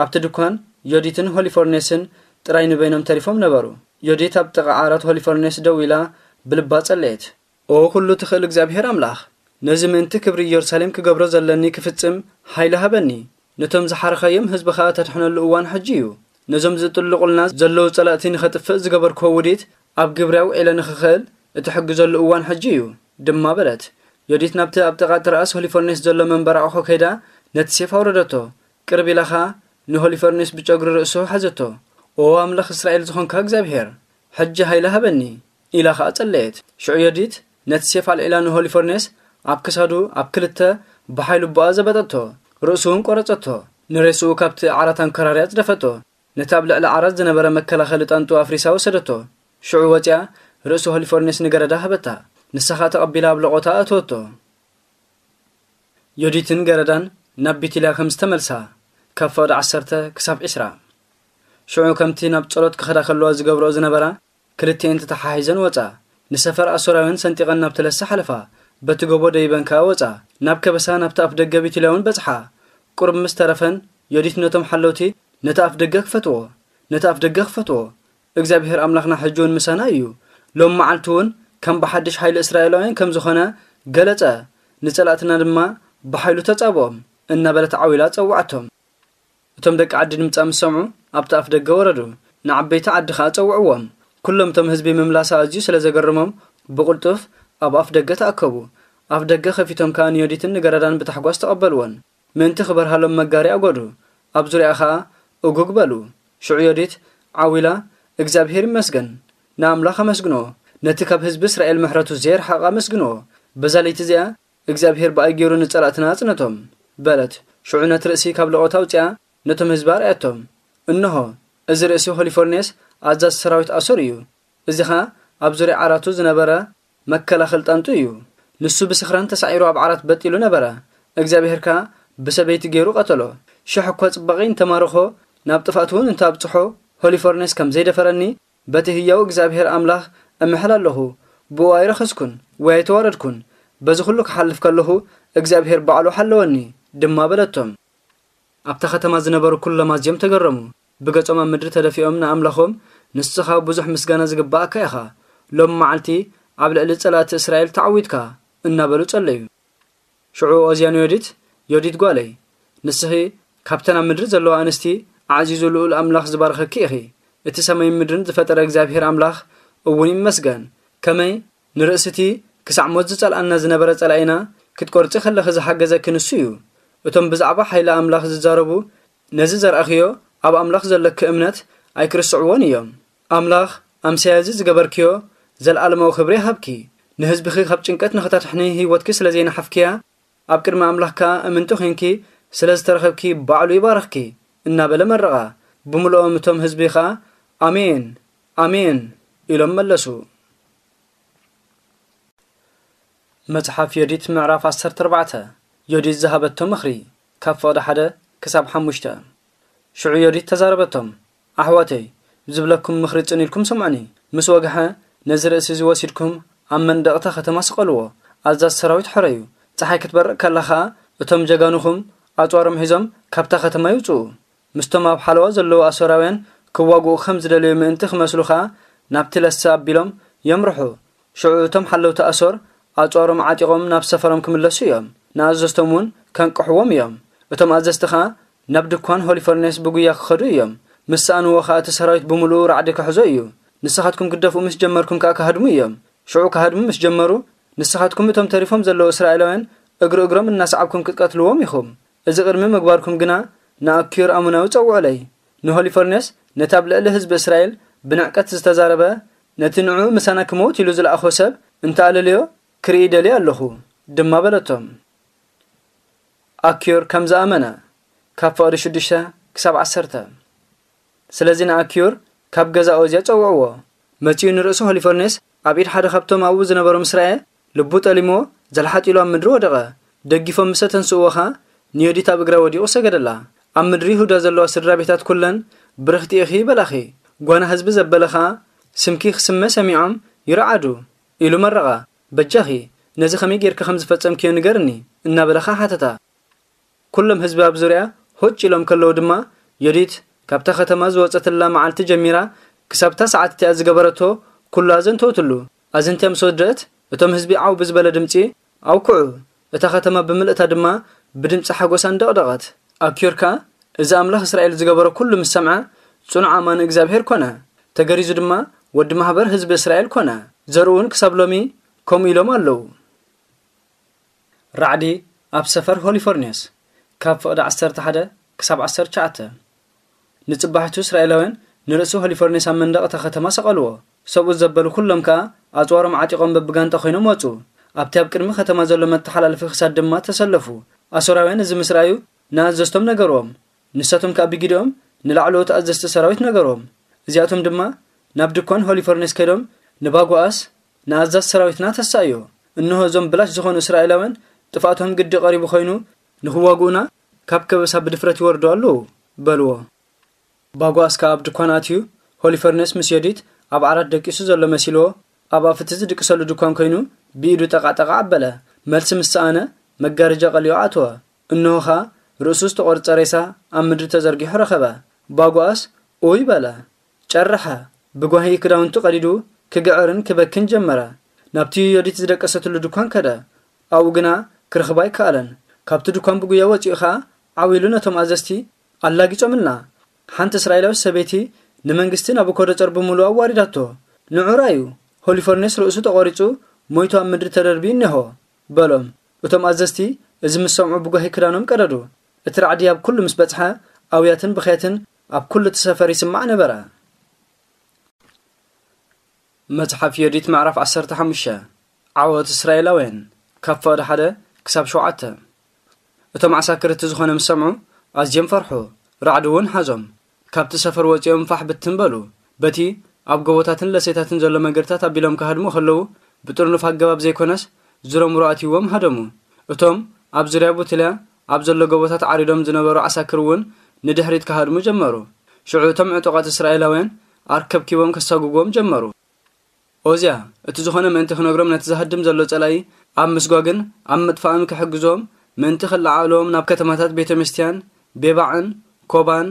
ኣብቲ ድኳን ዮዲትን ሆሊፎርኔስን ጥራይ ንበይኖም ተሪፎም ነበሩ። ዮዲት ኣብ ጥቓ ዓራት ሆሊፎርኔስ ደው ኢላ ብልባ ጸለየት። "ኦ ኩሉ ትኽእል እግዚኣብሄር ኣምላኽ፣ ነዚ ምእንቲ ክብሪ ኢየሩሳሌም ክገብሮ ዘለኒ ክፍጽም ሓይሊ ሃበኒ። ነቶም ዝሓረኻዮም ህዝብኻ እተድሕነሉ እዋን ሕጂ እዩ። ነዞም ዝጥልቑልና ዘለዉ ጸላእቲ ንኸጥፍእ ዝገበርክዎ ውዲት ኣብ ግብሪ ኣውዒለ ንኽኽእል እትሕግዘሉ እዋን ሕጂ እዩ" ድማ በለት። ዮዲት ናብቲ ኣብ ጥቓ ትርኣስ ሆሊፎርኔስ ዘሎ መንበር ኣቑሑ ከይዳ ነቲ ሴፍ ኣውረደቶ። ቅርብ ኢላ ኸኣ ንሆሊፈርኔስ ብጨጉሪ ርእሱ ሓዘቶ። "ኦ ኣምላኽ እስራኤል ዝኾንካ እግዚኣብሄር፣ ሕጂ ሃይለ ሃበኒ" ኢላ ኸኣ ጸለየት። ሽዑ ዮዲት ነቲ ሴፍ ኣልዒላ ንሆሊፈርኔስ ኣብ ክሳዱ ኣብ ክልተ ብሓይሉ ብኣ ዘበጠቶ። ርእሱ እውን ቆረጸቶ። ንሬስኡ ካብቲ ዓራት ኣንከራርያ ጽደፈቶ። ነቲ ኣብ ልዕሊ ዓራት ዝነበረ መከላኸሊ ጣንጡ ኣፍሪሳ ወሰደቶ። ሽዑ ወጺኣ ርእሲ ሆሊፈርኔስ ንገረዳ ሃበታ። ንሳ ኸኣ ተቐቢላ ኣብ ለቖታ ኣእተወቶ። ዮዲትን ገረዳን ናብ ቢትልያ ከም ዝተመልሳ፣ ካብ ፍቕዲ ዓሰርተ ክሳብ ዕስራ። ሽዑ ከምቲ ናብ ጸሎት ክኸዳ ከለዋ ዝገብርኦ ዝነበራ፣ ክልቲኤን ተተሓሒዘን ወጻ። ንሰፈር ኣሶራውያን ሰንጢቐን ናብ ተለሳ ሓለፋ፣ በቲ ጎቦ ደይበን ከኣ ወጻ። ናብ ከበሳ ናብቲ ኣፍ ደገ ቢትልያ እውን በጽሓ። ቁሩብ ምስ ተረፈን፣ ዮዲት ነቶም ሓለውቲ፣ "ነቲ ኣፍ ደገ ክፈትዎ፣ ነቲ ኣፍ ደገ ክፈትዎ፣ እግዚኣብሄር ኣምላኽና ሕጂ እውን ምሳና እዩ፣ ሎም መዓልቲ እውን ከም ብሓድሽ ሓይሊ እስራኤላውያን ከም ዝኾነ ገለጸ፣ ንጸላእትና ድማ ብሓይሉ ተጻብኦም" እናበለት ዓው ኢላ ጸውዓቶም። እቶም ደቂ ዓዲ ድምጻ ምስ ሰምዑ ኣብቲ ኣፍ ደገ ወረዱ፣ ንዓበይቲ ዓዲ ኸኣ ጸውዕዎም። ኩሎም እቶም ህዝቢ ምምላሳ ኣዝዩ ስለ ዘገረሞም ብቕልጡፍ ኣብ ኣፍ ደገ ተኣከቡ። ኣፍ ደገ ከፊቶም ከኣ ንዮዲትን ንገረዳን ብታሕጓስ ተቐበልወን። ምእንቲ ክበርሃሎም መጋሪ ኣጎዱ፣ ኣብ ዙርያኣ ኸኣ እጉግ በሉ። ሽዑ ዮዲት ዓው ኢላ፣ "እግዚኣብሄር ይመስገን፣ ንኣምላኽ ኣመስግንዎ፣ ነቲ ካብ ህዝቢ እስራኤል ምሕረቱ ዘየርሓቐ ኣመስግንዎ። በዛ ለይቲ እዚኣ እግዚኣብሄር ብኣይ ገይሩ ንጸላእትና ኣጽነቶም" በለት። ሽዑ ነቲ ርእሲ ካብ ለቖት ኣውጺኣ ነቶም ህዝቢ ኣርኣየቶም። "እንሆ፣ እዚ ርእሲ ሆሊፎርኔስ ኣዛዚ ሰራዊት ኣሶር እዩ። እዚ ኸኣ ኣብ ዙርያ ዓራቱ ዝነበረ መከላኸል ጣንጡ እዩ። ንሱ ብስኽራን ተሳዒሩ ኣብ ዓራት በጥ ኢሉ ነበረ። እግዚኣብሄር ከኣ ብሰበይቲ ገይሩ ቀተሎ። ሽሕ እኳ ጽባቐ እንተማረኾ፣ ናብ ጥፍኣት እውን እንተኣብጽሖ፣ ሆሊፎርኔስ ከም ዘይደፈረኒ በቲ ህያው እግዚኣብሄር ኣምላኽ እምሕል ኣለኹ። ብኡ ኣይረኸስኩን ወይ ኣይተዋረድኩን። በዚ ኹሉ ክሓልፍ ከለኹ እግዚኣብሄር ባዕሉ ሓለወኒ" ድማ በለቶም። ኣብታ ከተማ ዝነበሩ ኩሎም ኣዝዮም ተገረሙ። ብገጾም ኣብ ምድሪ ተደፊኦም ንኣምላኾም፣ "ንስኻ ብዙሕ ምስጋና ዝግብኣካ ኢኻ፣ ሎም መዓልቲ ኣብ ልዕሊ ጸላእቲ እስራኤል ተዓዊትካ፣ እናበሉ ጸለዩ። ሽዑ ኦዝያ ንዮዲት፣ ዮዲት ጓለይ፣ ንስኺ ካብተን ኣብ ምድሪ ዘለዋ ኣንስቲ ኣዕዚዙ ልኡል ኣምላኽ ዝባረኸኪ ኢኺ። እቲ ሰማይን ምድርን ዝፈጠረ እግዚኣብሔር ኣምላኽ እውን ይመስገን። ከመይ ንርእስቲ ክሳዕ ሞት ዝጸልኣና ዝነበረ ጸላኢና ክትቆርጺ ከለኺ ዝሓገዘኪ ንሱ እዩ። እቶም ብዛዕባ ሓይሊ ኣምላኽ ዝዛረቡ ነዚ ዘርኣኽዮ ኣብ ኣምላኽ ዘለኪ እምነት ኣይክርስዕዎን እዮም። ኣምላኽ ኣምሳያ እዚ ዝገበርክዮ ዘለኣለማዊ ክብሪ ይሃብኪ። ንህዝብኺ ካብ ጭንቀት ንኽተድሕኒ ህይወትኪ ስለ ዘይነሓፍክያ፣ ኣብ ቅድሚ ኣምላኽ ከኣ እምንቲ ኾይንኪ ስለ ዝተረኸብኪ ባዕሉ ይባርኽኪ እናበለ መረቓ። ብምልኦም እቶም ህዝቢ ኸኣ ኣሜን፣ ኣሜን ኢሎም መለሱ። መጽሓፍ ዮዲት ምዕራፍ ዓሰርተ ኣርባዕተ። ዮዲት ዝሃበቶ ምኽሪ ካብ ፍቕዲ ሓደ ክሳብ ሓሙሽተ። ሽዑ ዮዲት ተዛረበቶም፣ ኣሕዋተይ፣ ዝብለኩም ምኽሪ ጽን ኢልኩም ስምዑኒ። ምስ ወግሐ ነዚ ርእሲ እዚ ወሲድኩም ኣብ መንደቕታ ከተማ ስቐልዎ። ኣዛዝ ሰራዊት ሕረዩ። ጸሓይ ክትበርቕ ከላ ኸኣ እቶም ጀጋኑኹም ኣጽዋሮም ሒዞም ካብታ ከተማ ይውጽኡ። ምስቶም ኣብ ሓለዋ ዘለዉ ኣሶራውያን ክዋግኡ ከም ዝደለዩ ምእንቲ ክመስሉ ኸኣ ናብቲ ለሰ ኣቢሎም የምርሑ። ሽዑ እቶም ሓለውቲ ኣሶር ኣጽዋሮም ዓጢቖም ናብ ሰፈሮም ክምለሱ እዮም። ንኣዘዝቶም እውን ከንቅሕዎም እዮም። እቶም ኣዘዝቲ ኸኣ ናብ ድኳን ሆሊፈርኔስ ብጉያ ክኸዱ እዮም። ምስ ሰኣንዎ ኸኣ እቲ ሰራዊት ብምሉኡ ራዕዲ ክሕዞ እዩ። ንስኻትኩም ግደፍኡ ምስ ጀመርኩም ከኣ ክሃድሙ እዮም። ሽዑ ክሃድሙ ምስ ጀመሩ፣ ንስኻትኩም እቶም ተሪፎም ዘለዉ እስራኤላውያን እግሪ እግሮም እናሰዓብኩም ክትቀትልዎም ኢኹም። እዚ ቅድሚ ምግባርኩም ግና ንኣኪዮር ኣሞናዊ ጸውዑለይ። ንሆሊፈርኔስ ነቲ ኣብ ልዕሊ ህዝቢ እስራኤል ብንዕቀት ዝተዛረበ፣ ነቲ ንዕኡ ምሳና ክመውት ኢሉ ዝለኣኾ ሰብ እንተኣለልዮ ክርኢ ደልየ ኣለኹ ድማ በለቶም። ኣኪዮር ከም ዝኣመነ ካብ ፍቕዲ ሽዱሽተ ክሳብ ዓሰርተ። ስለዚ ንኣኪዮር ካብ ገዛ ኦዝያ ጸውዕዎ። መጺኡ ንርእሱ ሆሊፈርኔስ ኣብ ኢድ ሓደ ካብቶም ኣብኡ ዝነበሩ ምስ ረኣየ፣ ልቡ ጠሊምዎ፣ ዘልሓጥ ኢሉ ኣብ ምድሪ ወደቐ። ደጊፎም ምስ ኣተንስእዎ ኸኣ ንዮዲት ኣብ እግራ ወዲቑ ሰገደላ። ኣብ ምድሪ ይሁዳ ዘለዋ ስድራ ቤታት ኩለን ብርኽቲ ኢኺ ይበላኺ። ጓና ህዝቢ ዘበለ ኸኣ ስምኪ ክስመ ሰሚዖም ይረዓዱ ኢሉ መረቓ። በጃኺ ነዚ ከመይ ጌርኪ ከም ዝፈጸምክዮ ንገርኒ እናበለ ኸኣ ሓተታ። ኩሎም ህዝቢ ኣብ ዙርያ ሆጭ ኢሎም ከለዉ ድማ፣ ዮዲት ካብታ ከተማ ዝወጸትላ መዓልቲ ጀሚራ ክሳብታ ሰዓት እቲኣ ዝገበረቶ ኩሉ ኣዘንተወትሉ። ኣዘንትያ ምስ ወደአት፣ እቶም ህዝቢ ዓው ብዝበለ ድምጺ ኣውክዑ። እታ ከተማ ብምልእታ ድማ ብድምጺ ሓጎስ ኣንደቕደቐት። ኣኪዮር ከኣ እዚ ኣምላኽ እስራኤል ዝገበሮ ኩሉ ምስ ሰምዐ፣ ጽኑዕ ኣማኒ እግዚኣብሄር ኮነ። ተገሪዙ ድማ ወዲ ማሕበር ህዝቢ እስራኤል ኮነ። ዘርኡ እውን ክሳብ ሎሚ ከምኡ ኢሎም ኣለዉ። ራዕዲ ኣብ ሰፈር ሆሊፎርኔስ፣ ካብ ፍቕዲ ዓሰርተ ሓደ ክሳብ ዓሰርተ ትሽዓተ። ንጽባሒቱ እስራኤላውያን ንርእሲ ሆሊፎርኔስ ኣብ መንደቕ እታ ከተማ ሰቐልዎ። ሰብኡት ዘበሉ ኩሎም ከኣ ኣጽዋሮም ዓጢቖም በብጋንጣ ኮይኖም ወጹ። ኣብቲ ኣብ ቅድሚ ከተማ ዘሎ መተሓላለፊ ክሳድ ድማ ተሰለፉ። ኣሶራውያን እዚ ምስ ረኣዩ ንኣዘዝቶም ነገርዎም። ንሳቶም ከኣ ብጊድኦም ንላዕለዎት ኣዘዝቲ ሰራዊት ነገርዎም። እዚኣቶም ድማ ናብ ድኳን ሆሊፎርኔስ ከይዶም ንባጉኣስ ንኣዛዝ ሰራዊትና ተሳእዮ። እንሆ እዞም ብላሽ ዝኾኑ እስራኤላውያን ጥፍኣቶም ግዲ ቀሪቡ ኮይኑ ንኽዋግኡና ካብ ከበሳ ብድፍረት ይወርዱ ኣለዉ በልዎ። ባጉኣስ ከኣ ኣብ ድኳን ኣትዩ ሆሊፈርኔስ ምስ ዮዲት ኣብ ዓራት ደቂሱ ዘሎ መሲልዎ ኣብ ኣፍቲ ዝድቅሰሉ ድኳን ኮይኑ ብኢዱ ጠቓ ጠቓ ኣበለ። መልሲ ምስ ሰኣነ መጋረጃ ቀሊዑ ኣተወ። እንሆ ኸኣ ርእሱ ዝተቖርጸ ሬሳ ኣብ ምድሪ ተዘርጊሑ ረኸበ። ባጉኣስ ኡይ በለ። ጨርሐ። ብጓሂ ክዳውንቱ ቀዲዱ ክግዕርን ክበክን ጀመረ። ናብቲ ዮዲት ዝደቀሰትሉ ድኳን ከደ። ኣብኡ ግና ክረኽባ ኣይከኣለን። ካብቲ ድኳን ብጉያ ወጺኡ ኸኣ ዓው ኢሉ ነቶም ኣዘዝቲ ኣላጊጾምልና። ሓንቲ እስራኤላዊት ሰበይቲ ንመንግስቲ ናቡኮደጸር ብምሉኡ ኣዋሪዳቶ። ንዑ ራዩ፣ ሆሊፈርኔስ ርእሱ ተቖሪጹ ሞይቱ ኣብ ምድሪ ተደርብዩ እነሆ በሎም። እቶም ኣዘዝቲ እዚ ምስ ሰምዑ ብጓሂ ክዳኖም ቀደዱ። እቲ ራዕዲ ኣብ ኩሉ ምስ በጽሐ ኣውያትን ብኽያትን ኣብ ኩሉ እቲ ሰፈር ይስማዕ ነበረ። መጽሓፍ ዮዲት ምዕራፍ ዓሰርተ ሓሙሽተ። ዓወት እስራኤላውያን፣ ካብ ፍቕዲ ሓደ ክሳብ ሸውዓተ። እቶም ዓሳክር እቲ ዝኾነ ምስ ሰምዑ ኣዝዮም ፈርሑ፣ ራዕዲ እውን ሓዞም። ካብቲ ሰፈር ወጺኦም ፋሕ ብትን በሉ። በቲ ኣብ ጎቦታትን ለሴታትን ዘሎ መገድታት ኣቢሎም ክሃድሙ ከለዉ ብጥርኑፍ ኣገባብ ዘይኮነስ ዝረምሩ ኣትይዎም ሃደሙ። እቶም ኣብ ዙርያ ቡትልያ ኣብ ዘሎ ጎቦታት ዓሪዶም ዝነበሩ ዓሳክር እውን ንድሕሪት ክሃድሙ ጀመሩ። ሽዑ እቶም ዕጡቓት እስራኤላውያን ኣርከብኪቦም ከሳጉግዎም ጀመሩ። ኦዝያ፣ እቲ ዝኾነ ምእንቲ ክነግሮም ነቲ ዝሃድም ዘሎ ጸላኢ ኣብ ምስጓግን ኣብ ምጥፋእን ክሕግዞም ምእንቲ ክለዓዕሎም ናብ ከተማታት ቤተ-ምስትያን ቤባዕን ኮባን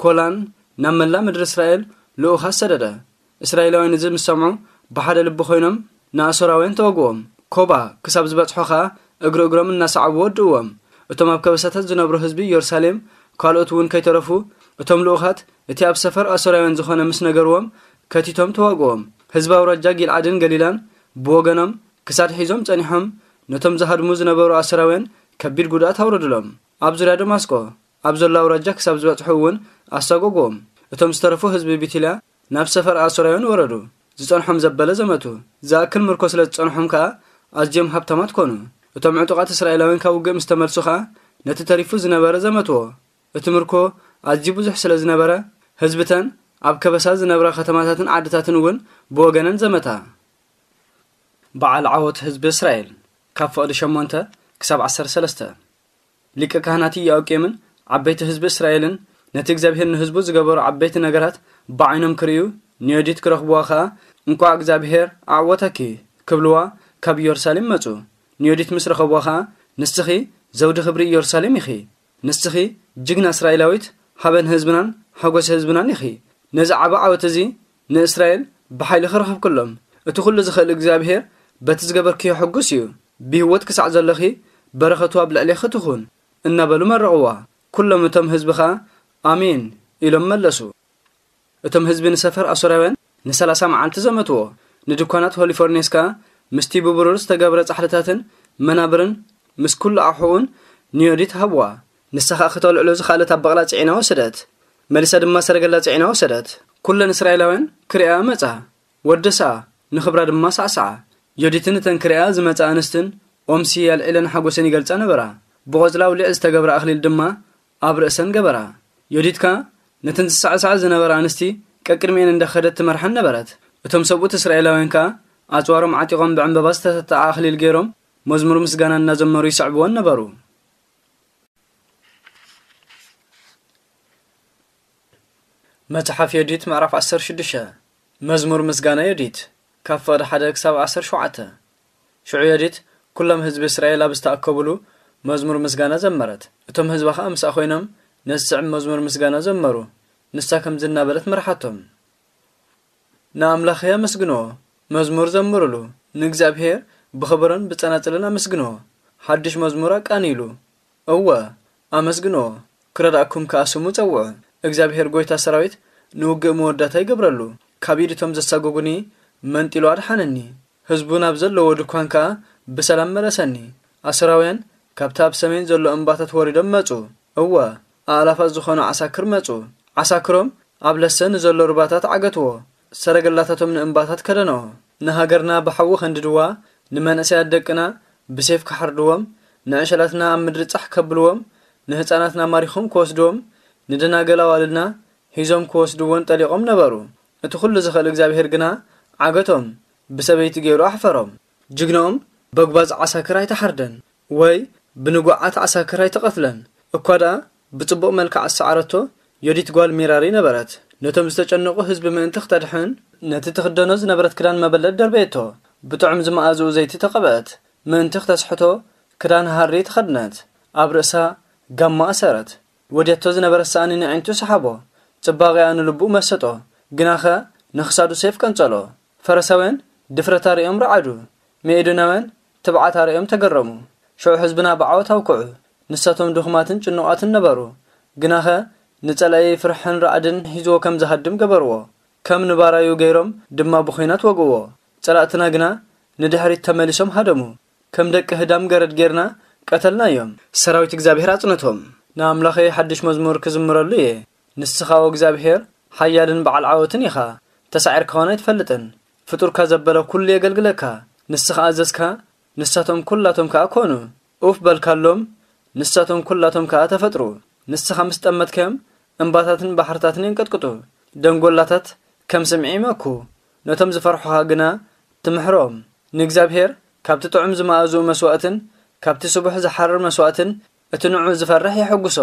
ኮላን ናብ መላእ ምድሪ እስራኤል ልኡኻት ሰደደ። እስራኤላውያን እዚ ምስ ሰምዑ ብሓደ ልቢ ኮይኖም ንኣሶራውያን ተወግዎም። ኮባ ክሳብ ዝበጽሖ ኸኣ እግሪ እግሮም እናሰዓቡ ወድእዎም። እቶም ኣብ ከበሳታት ዝነብሩ ህዝቢ ኢየሩሳሌም ካልኦት እውን ከይተረፉ፣ እቶም ልኡኻት እቲ ኣብ ሰፈር ኣሶራውያን ዝኾነ ምስ ነገርዎም፣ ከቲቶም ተዋግኦም። ህዝቢ ኣውራጃ ጊልዓድን ገሊላን ብወገኖም ክሳድ ሒዞም ጸኒሖም፣ ነቶም ዝሃድሙ ዝነበሩ ኣሶራውያን ከቢድ ጉድኣት ኣውረድሎም። ኣብ ዙርያ ደማስቆ ኣብ ዘሎ ኣውራጃ ክሳብ ዝበጽሑ እውን ኣሳጎግዎም። እቶም ዝተረፉ ህዝቢ ቢቲልያ ናብ ሰፈር ኣሶራውያን ወረዱ። ዝጸንሖም ዘበለ ዘመቱ። ዝኣክል ምርኮ ስለ ዝጸንሖም ከኣ ኣዝዮም ሃብታማት ኮኑ። እቶም ዕጡቓት እስራኤላውያን ካብ ውግእ ምስ ተመልሱ ከኣ ነቲ ተሪፉ ዝነበረ ዘመትዎ። እቲ ምርኮ ኣዝዩ ብዙሕ ስለ ዝነበረ፣ ህዝብተን ኣብ ከበሳ ዝነብራ ከተማታትን ዓድታትን እውን ብወገነን ዘመታ። በዓል ዓወት ህዝቢ እስራኤል፣ ካብ ፍቕዲ ሸሞንተ ክሳብ ዓሰርተ ሰለስተ። ሊቀ ካህናት ኢዮአቄምን ዓበይቲ ህዝቢ እስራኤልን ነቲ እግዚኣብሔር ንህዝቡ ዝገበሮ ዓበይቲ ነገራት ብዓይኖም ክርእዩ ንዮዲት ክረኽብዋ ኸኣ፣ "እንቋዕ እግዚኣብሔር ኣዕወተኪ" ክብልዋ ካብ ኢየሩሳሌም መጹ። ንዮዲት ምስ ረኸብዋ ኸኣ፣ "ንስኺ ዘውዲ ክብሪ ኢየሩሳሌም ኢኺ። ንስኺ ጅግና እስራኤላዊት፣ ሃበን ህዝብናን ሓጎስ ህዝብናን ኢኺ። ነዚ ዓቢ ዓወት እዚ ንእስራኤል ብሓይሊ ክረኽብክሎም፣ እቲ ኩሉ ዝኽእል እግዚኣብሔር በቲ ዝገበርክዮ ሕጉስ እዩ። ብህይወት ክሳዕ ዘለኺ በረኸቱ ኣብ ልዕሌኺ ትኹን" እናበሉ መረቕዋ። ኩሎም እቶም ህዝቢ ኸኣ "ኣሜን" ኢሎም መለሱ። እቶም ህዝቢ ንሰፈር ኣሶራውያን ንሰላሳ መዓልቲ ዘመትዎ። ንድኳናት ሆሊፎርኔስ ከኣ ምስቲ ብብሩር ዝተገብረ ጻሕልታትን መናብርን ምስ ኩሉ ኣቑሑኡን ንዮዲት ሃብዋ። ንሳ ኸኣ ክተልዕሎ ዝኸኣለት ኣብ በቕላ ጽዒና ወሰደት። መሊሳ ድማ ሰረገላ ጽዒና ወሰደት። ኩለን እስራኤላውያን ክርእያ መጻ። ወደስኣ፣ ንኽብራ ድማ ሳዕሳዓ። ዮዲትን እተን ክርእያ ዝመጻ ኣንስትን ኦምሲ ኣልዒለን ሓጎሰን ይገልጻ ነበራ። ብቖጽሊ ኣውሊዕ ዝተገብረ ኣኽሊል ድማ ኣብ ርእሰን ገበራ። ዮዲት ከኣ ነተን ዝሳዕሳዓ ዝነበራ ኣንስቲ ቀቅድሚኤን እንዳኸደት ትመርሐን ነበረት። እቶም ሰብኡት እስራኤላውያን ከኣ ኣጽዋሮም ዓጢቖም ብዕምበባ ዝተሰጥኣ ኣኽሊል ገይሮም መዝሙር ምስጋና እናዘመሩ ይስዕብወን ነበሩ። መጽሓፍ ዮዲት ምዕራፍ ዓሰርተ ሽዱሽተ። መዝሙር ምስጋና ዮዲት፣ ካብ ፍቕዲ ሓደ ክሳብ ዓሰርተ ሸውዓተ። ሽዑ ዮዲት ኩሎም ህዝቢ እስራኤል ኣብ ዝተኣከቡሉ መዝሙር ምስጋና ዘመረት። እቶም ህዝባ ኸኣ ምስኣ ኮይኖም ነዚ ዝስዕብ መዝሙር ምስጋና ዘመሩ። ንሳ ከምዚ እናበለት መርሓቶም። ንኣምላኽይ ኣመስግንዎ፣ መዝሙር ዘምሩሉ፣ ንእግዚኣብሄር ብኸበሮን ብጸናጽልን ኣመስግንዎ፣ ሓድሽ መዝሙር ኣቃንይሉ። እወ፣ ኣመስግንዎ፣ ክረድኣኩም ከኣ ስሙ ጸውዑ። እግዚኣብሄር ጐይታ ሰራዊት ንውግእ መወዳእታ ይገብረሉ። ካብ ኢድ እቶም ዘሳጎጉኒ መንጢሉ ኣድሓነኒ። ህዝቡ ናብ ዘለዎ ድኳን ከኣ ብሰላም መለሰኒ። ኣሶራውያን ካብቲ ኣብ ሰሜን ዘሎ እምባታት ወሪዶም መጹ። እወ፣ ኣእላፋት ዝኾኑ ዓሳክር መጹ። ዓሳክሮም ኣብ ለሰ ንዘሎ ሩባታት ዓገትዎ። ሰረገላታቶም ንእምባታት ከደንኦ። ንሃገርና ብሓዊ ከንድድዋ፣ ንመንእሰያት ደቅና ብሴፍ ክሓርድዎም፣ ንዕሸላትና ኣብ ምድሪ ጻሕ ከብልዎም፣ ንህጻናትና ማሪኾም ክወስድዎም፣ ንደናገል ኣዋልድና ሒዞም ክወስድወን ጠሊቖም ነበሩ። እቲ ኩሉ ዝኽእል እግዚኣብሄር ግና ዓገቶም፣ ብሰበይቲ ገይሩ ኣሕፈሮም። ጅግንኦም በጉባዝ ዓሳክር ኣይተሓርደን፣ ወይ ብንጉዓት ዓሳክር ኣይተቐትለን። እኳ ደኣ ብጽቡቕ መልክዕ ዝሰዓረቶ ዮዲት ጓል ሜራሪ ነበረት። ነቶም ዝተጨነቑ ህዝቢ ምእንቲ ክተድሕን፣ ነቲ ትኽደኖ ዝነበረት ክዳን መበለት ደርበየቶ። ብጥዑም ዝመኣዝኡ ዘይቲ ተቐብአት። ምእንቲ ክተስሕቶ ክዳን ሃሪ ተኸድነት። ኣብ ርእሳ ጋማ ኣሰረት። ወድያቶ ዝነበረ ሳእኒ ንዒንቱ ሰሓቦ። ጽባቐኣ ንልቡ መሰጦ። ግናኸ ንኽሳዱ ሴፍ ቀንጸሎ። ፈረሳውያን ድፍረታ ርእዮም ረዓዱ። መኤዶናውያን ትብዓታ ርእዮም ተገረሙ። ሽዑ ህዝብና ብዓወት ኣውክዑ። ንሳቶም ድኹማትን ጭኑቓትን ነበሩ። ግናኸ ንጸላኢ ፍርሕን ራዕድን ሒዝዎ ከም ዝሃድም ገበርዎ። ከም ንባራዩ ገይሮም ድማ ብኹናት ወግእዎ። ጸላእትና ግና ንድሕሪት ተመሊሶም ሃደሙ። ከም ደቂ ህዳም ገረድ ጌርና ቀተልናዮም። ሰራዊት እግዚኣብሔር ኣጽነቶም። ንኣምላኸይ ሓድሽ መዝሙር ክዝምረሉ እየ። ንስኻ፣ ኦ እግዚኣብሔር፣ ሓያልን በዓል ዓወትን ኢኻ። ተሳዒርካ ኾን ኣይትፈልጥን። ፍጡርካ ዘበለ ኩሉ የገልግለካ። ንስኻ ኣዘዝካ፣ ንሳቶም ኩላቶም ከኣ ኮኑ። ኡፍ በልካሎም፣ ንሳቶም ኩላቶም ከኣ ተፈጥሩ። ንስኻ ምስ ጠመትካዮም፣ እምባታትን ባሕርታትን የንቀጥቅጡ። ደንጎላታት ከም ስምዒ ይመኩ። ነቶም ዝፈርሑኻ ግና ትምሕሮም። ንእግዚኣብሔር ካብቲ ጥዑም ዝመኣዝኡ መስዋእትን ካብቲ ስቡሕ ዝሓርር መስዋእትን እቲ ንዑ ዝፈርሕ የሐጉሶ።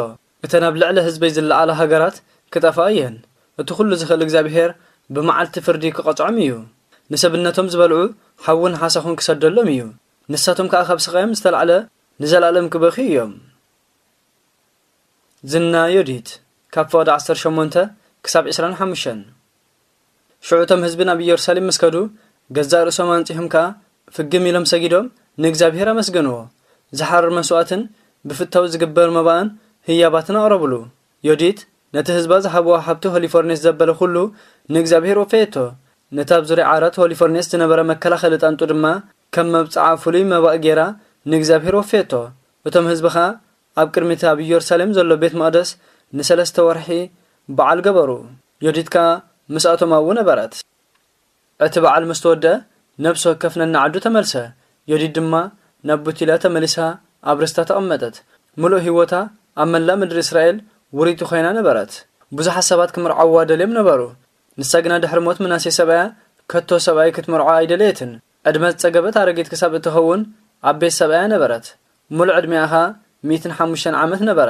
እተን ኣብ ልዕሊ ህዝበይ ዝለዓላ ሃገራት ክጠፍኣ እየን። እቲ ኩሉ ዝኽእል እግዚኣብሔር ብመዓልቲ ፍርዲ ክቐጽዖም እዩ። ንሰብነቶም ዝበልዑ ሓውን ሓሳኹን ክሰደሎም እዩ። ንሳቶም ከኣ ካብ ስቓዮም ዝተላዕለ ንዘለኣለም ክበኽዩ እዮም። ዝና ዮዲት፣ ካብ ፍቕዲ ዓሰርተ ሸሞንተ ክሳብ ዕስራን ሓሙሽተን። ሽዑ እቶም ህዝቢ ናብ ኢየሩሳሌም ምስ ከዱ፣ ገዛእ ርእሶም ኣንጺሆም ከኣ ፍግም ኢሎም ሰጊዶም ንእግዚኣብሔር ኣመስገንዎ። ዝሓርር መስዋእትን ብፍታው ዝግበር መባእን ህያባትን ኣቕረብሉ። ዮዲት ነቲ ህዝባ ዝሃብዋ ሃብቲ ሆሊፎርኔስ ዘበለ ኩሉ ንእግዚኣብሔር ወፈየቶ። ነቲ ኣብ ዙርያ ዓራት ሆሊፎርኔስ ዝነበረ መከላኸሊ ጣንጡ ድማ ከም መብጽዓ ፍሉይ መባእ ጌራ ንእግዚኣብሔር ወፈየቶ። እቶም ህዝቢ ኸኣ ኣብ ቅድሚት ኣብ ኢየሩሳሌም ዘሎ ቤት መቕደስ ንሰለስተ ወርሒ በዓል ገበሩ። ዮዲት ከኣ ምስኣቶም ኣብኡ ነበረት። እቲ በዓል ምስ ተወድአ፣ ነብሲ ወከፍ ነንዓዱ ተመልሰ። ዮዲት ድማ ናብ ቡቲላ ተመሊሳ ኣብ ርስታ ተቐመጠት። ምሉእ ህይወታ ኣብ መላእ ምድሪ እስራኤል ውርይቲ ኮይና ነበረት። ብዙሓት ሰባት ክምርዓዋ ደልዮም ነበሩ። ንሳ ግና ድሕሪ ሞት ምናሴ ሰብኣያ ከቶ ሰብኣይ ክትምርዖ ኣይደለየትን። ዕድመ ዝጸገበት ኣረጊት ክሳብ እትኸውን ኣብ ቤት ሰብኣያ ነበረት። ምሉእ ዕድሜኣ ኸኣ ሚእትን ሓሙሽተን ዓመት ነበረ።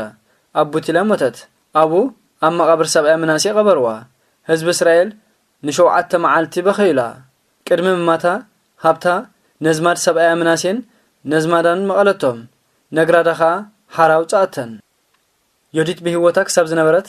ኣብ ቡቲላ ሞተት። ኣብኡ ኣብ መቓብር ሰብኣያ ምናሴ ቀበርዋ። ህዝቢ እስራኤል ንሸውዓተ መዓልቲ በኸዩላ። ቅድሚ ምማታ፣ ሃብታ ነዝማድ ሰብኣያ ምናሴን ነዝማዳን መቐለቶም። ነግራዳ ኸኣ ሓራ ኣውጽኣተን። ዮዲት ብህይወታ ክሳብ ዝነበረት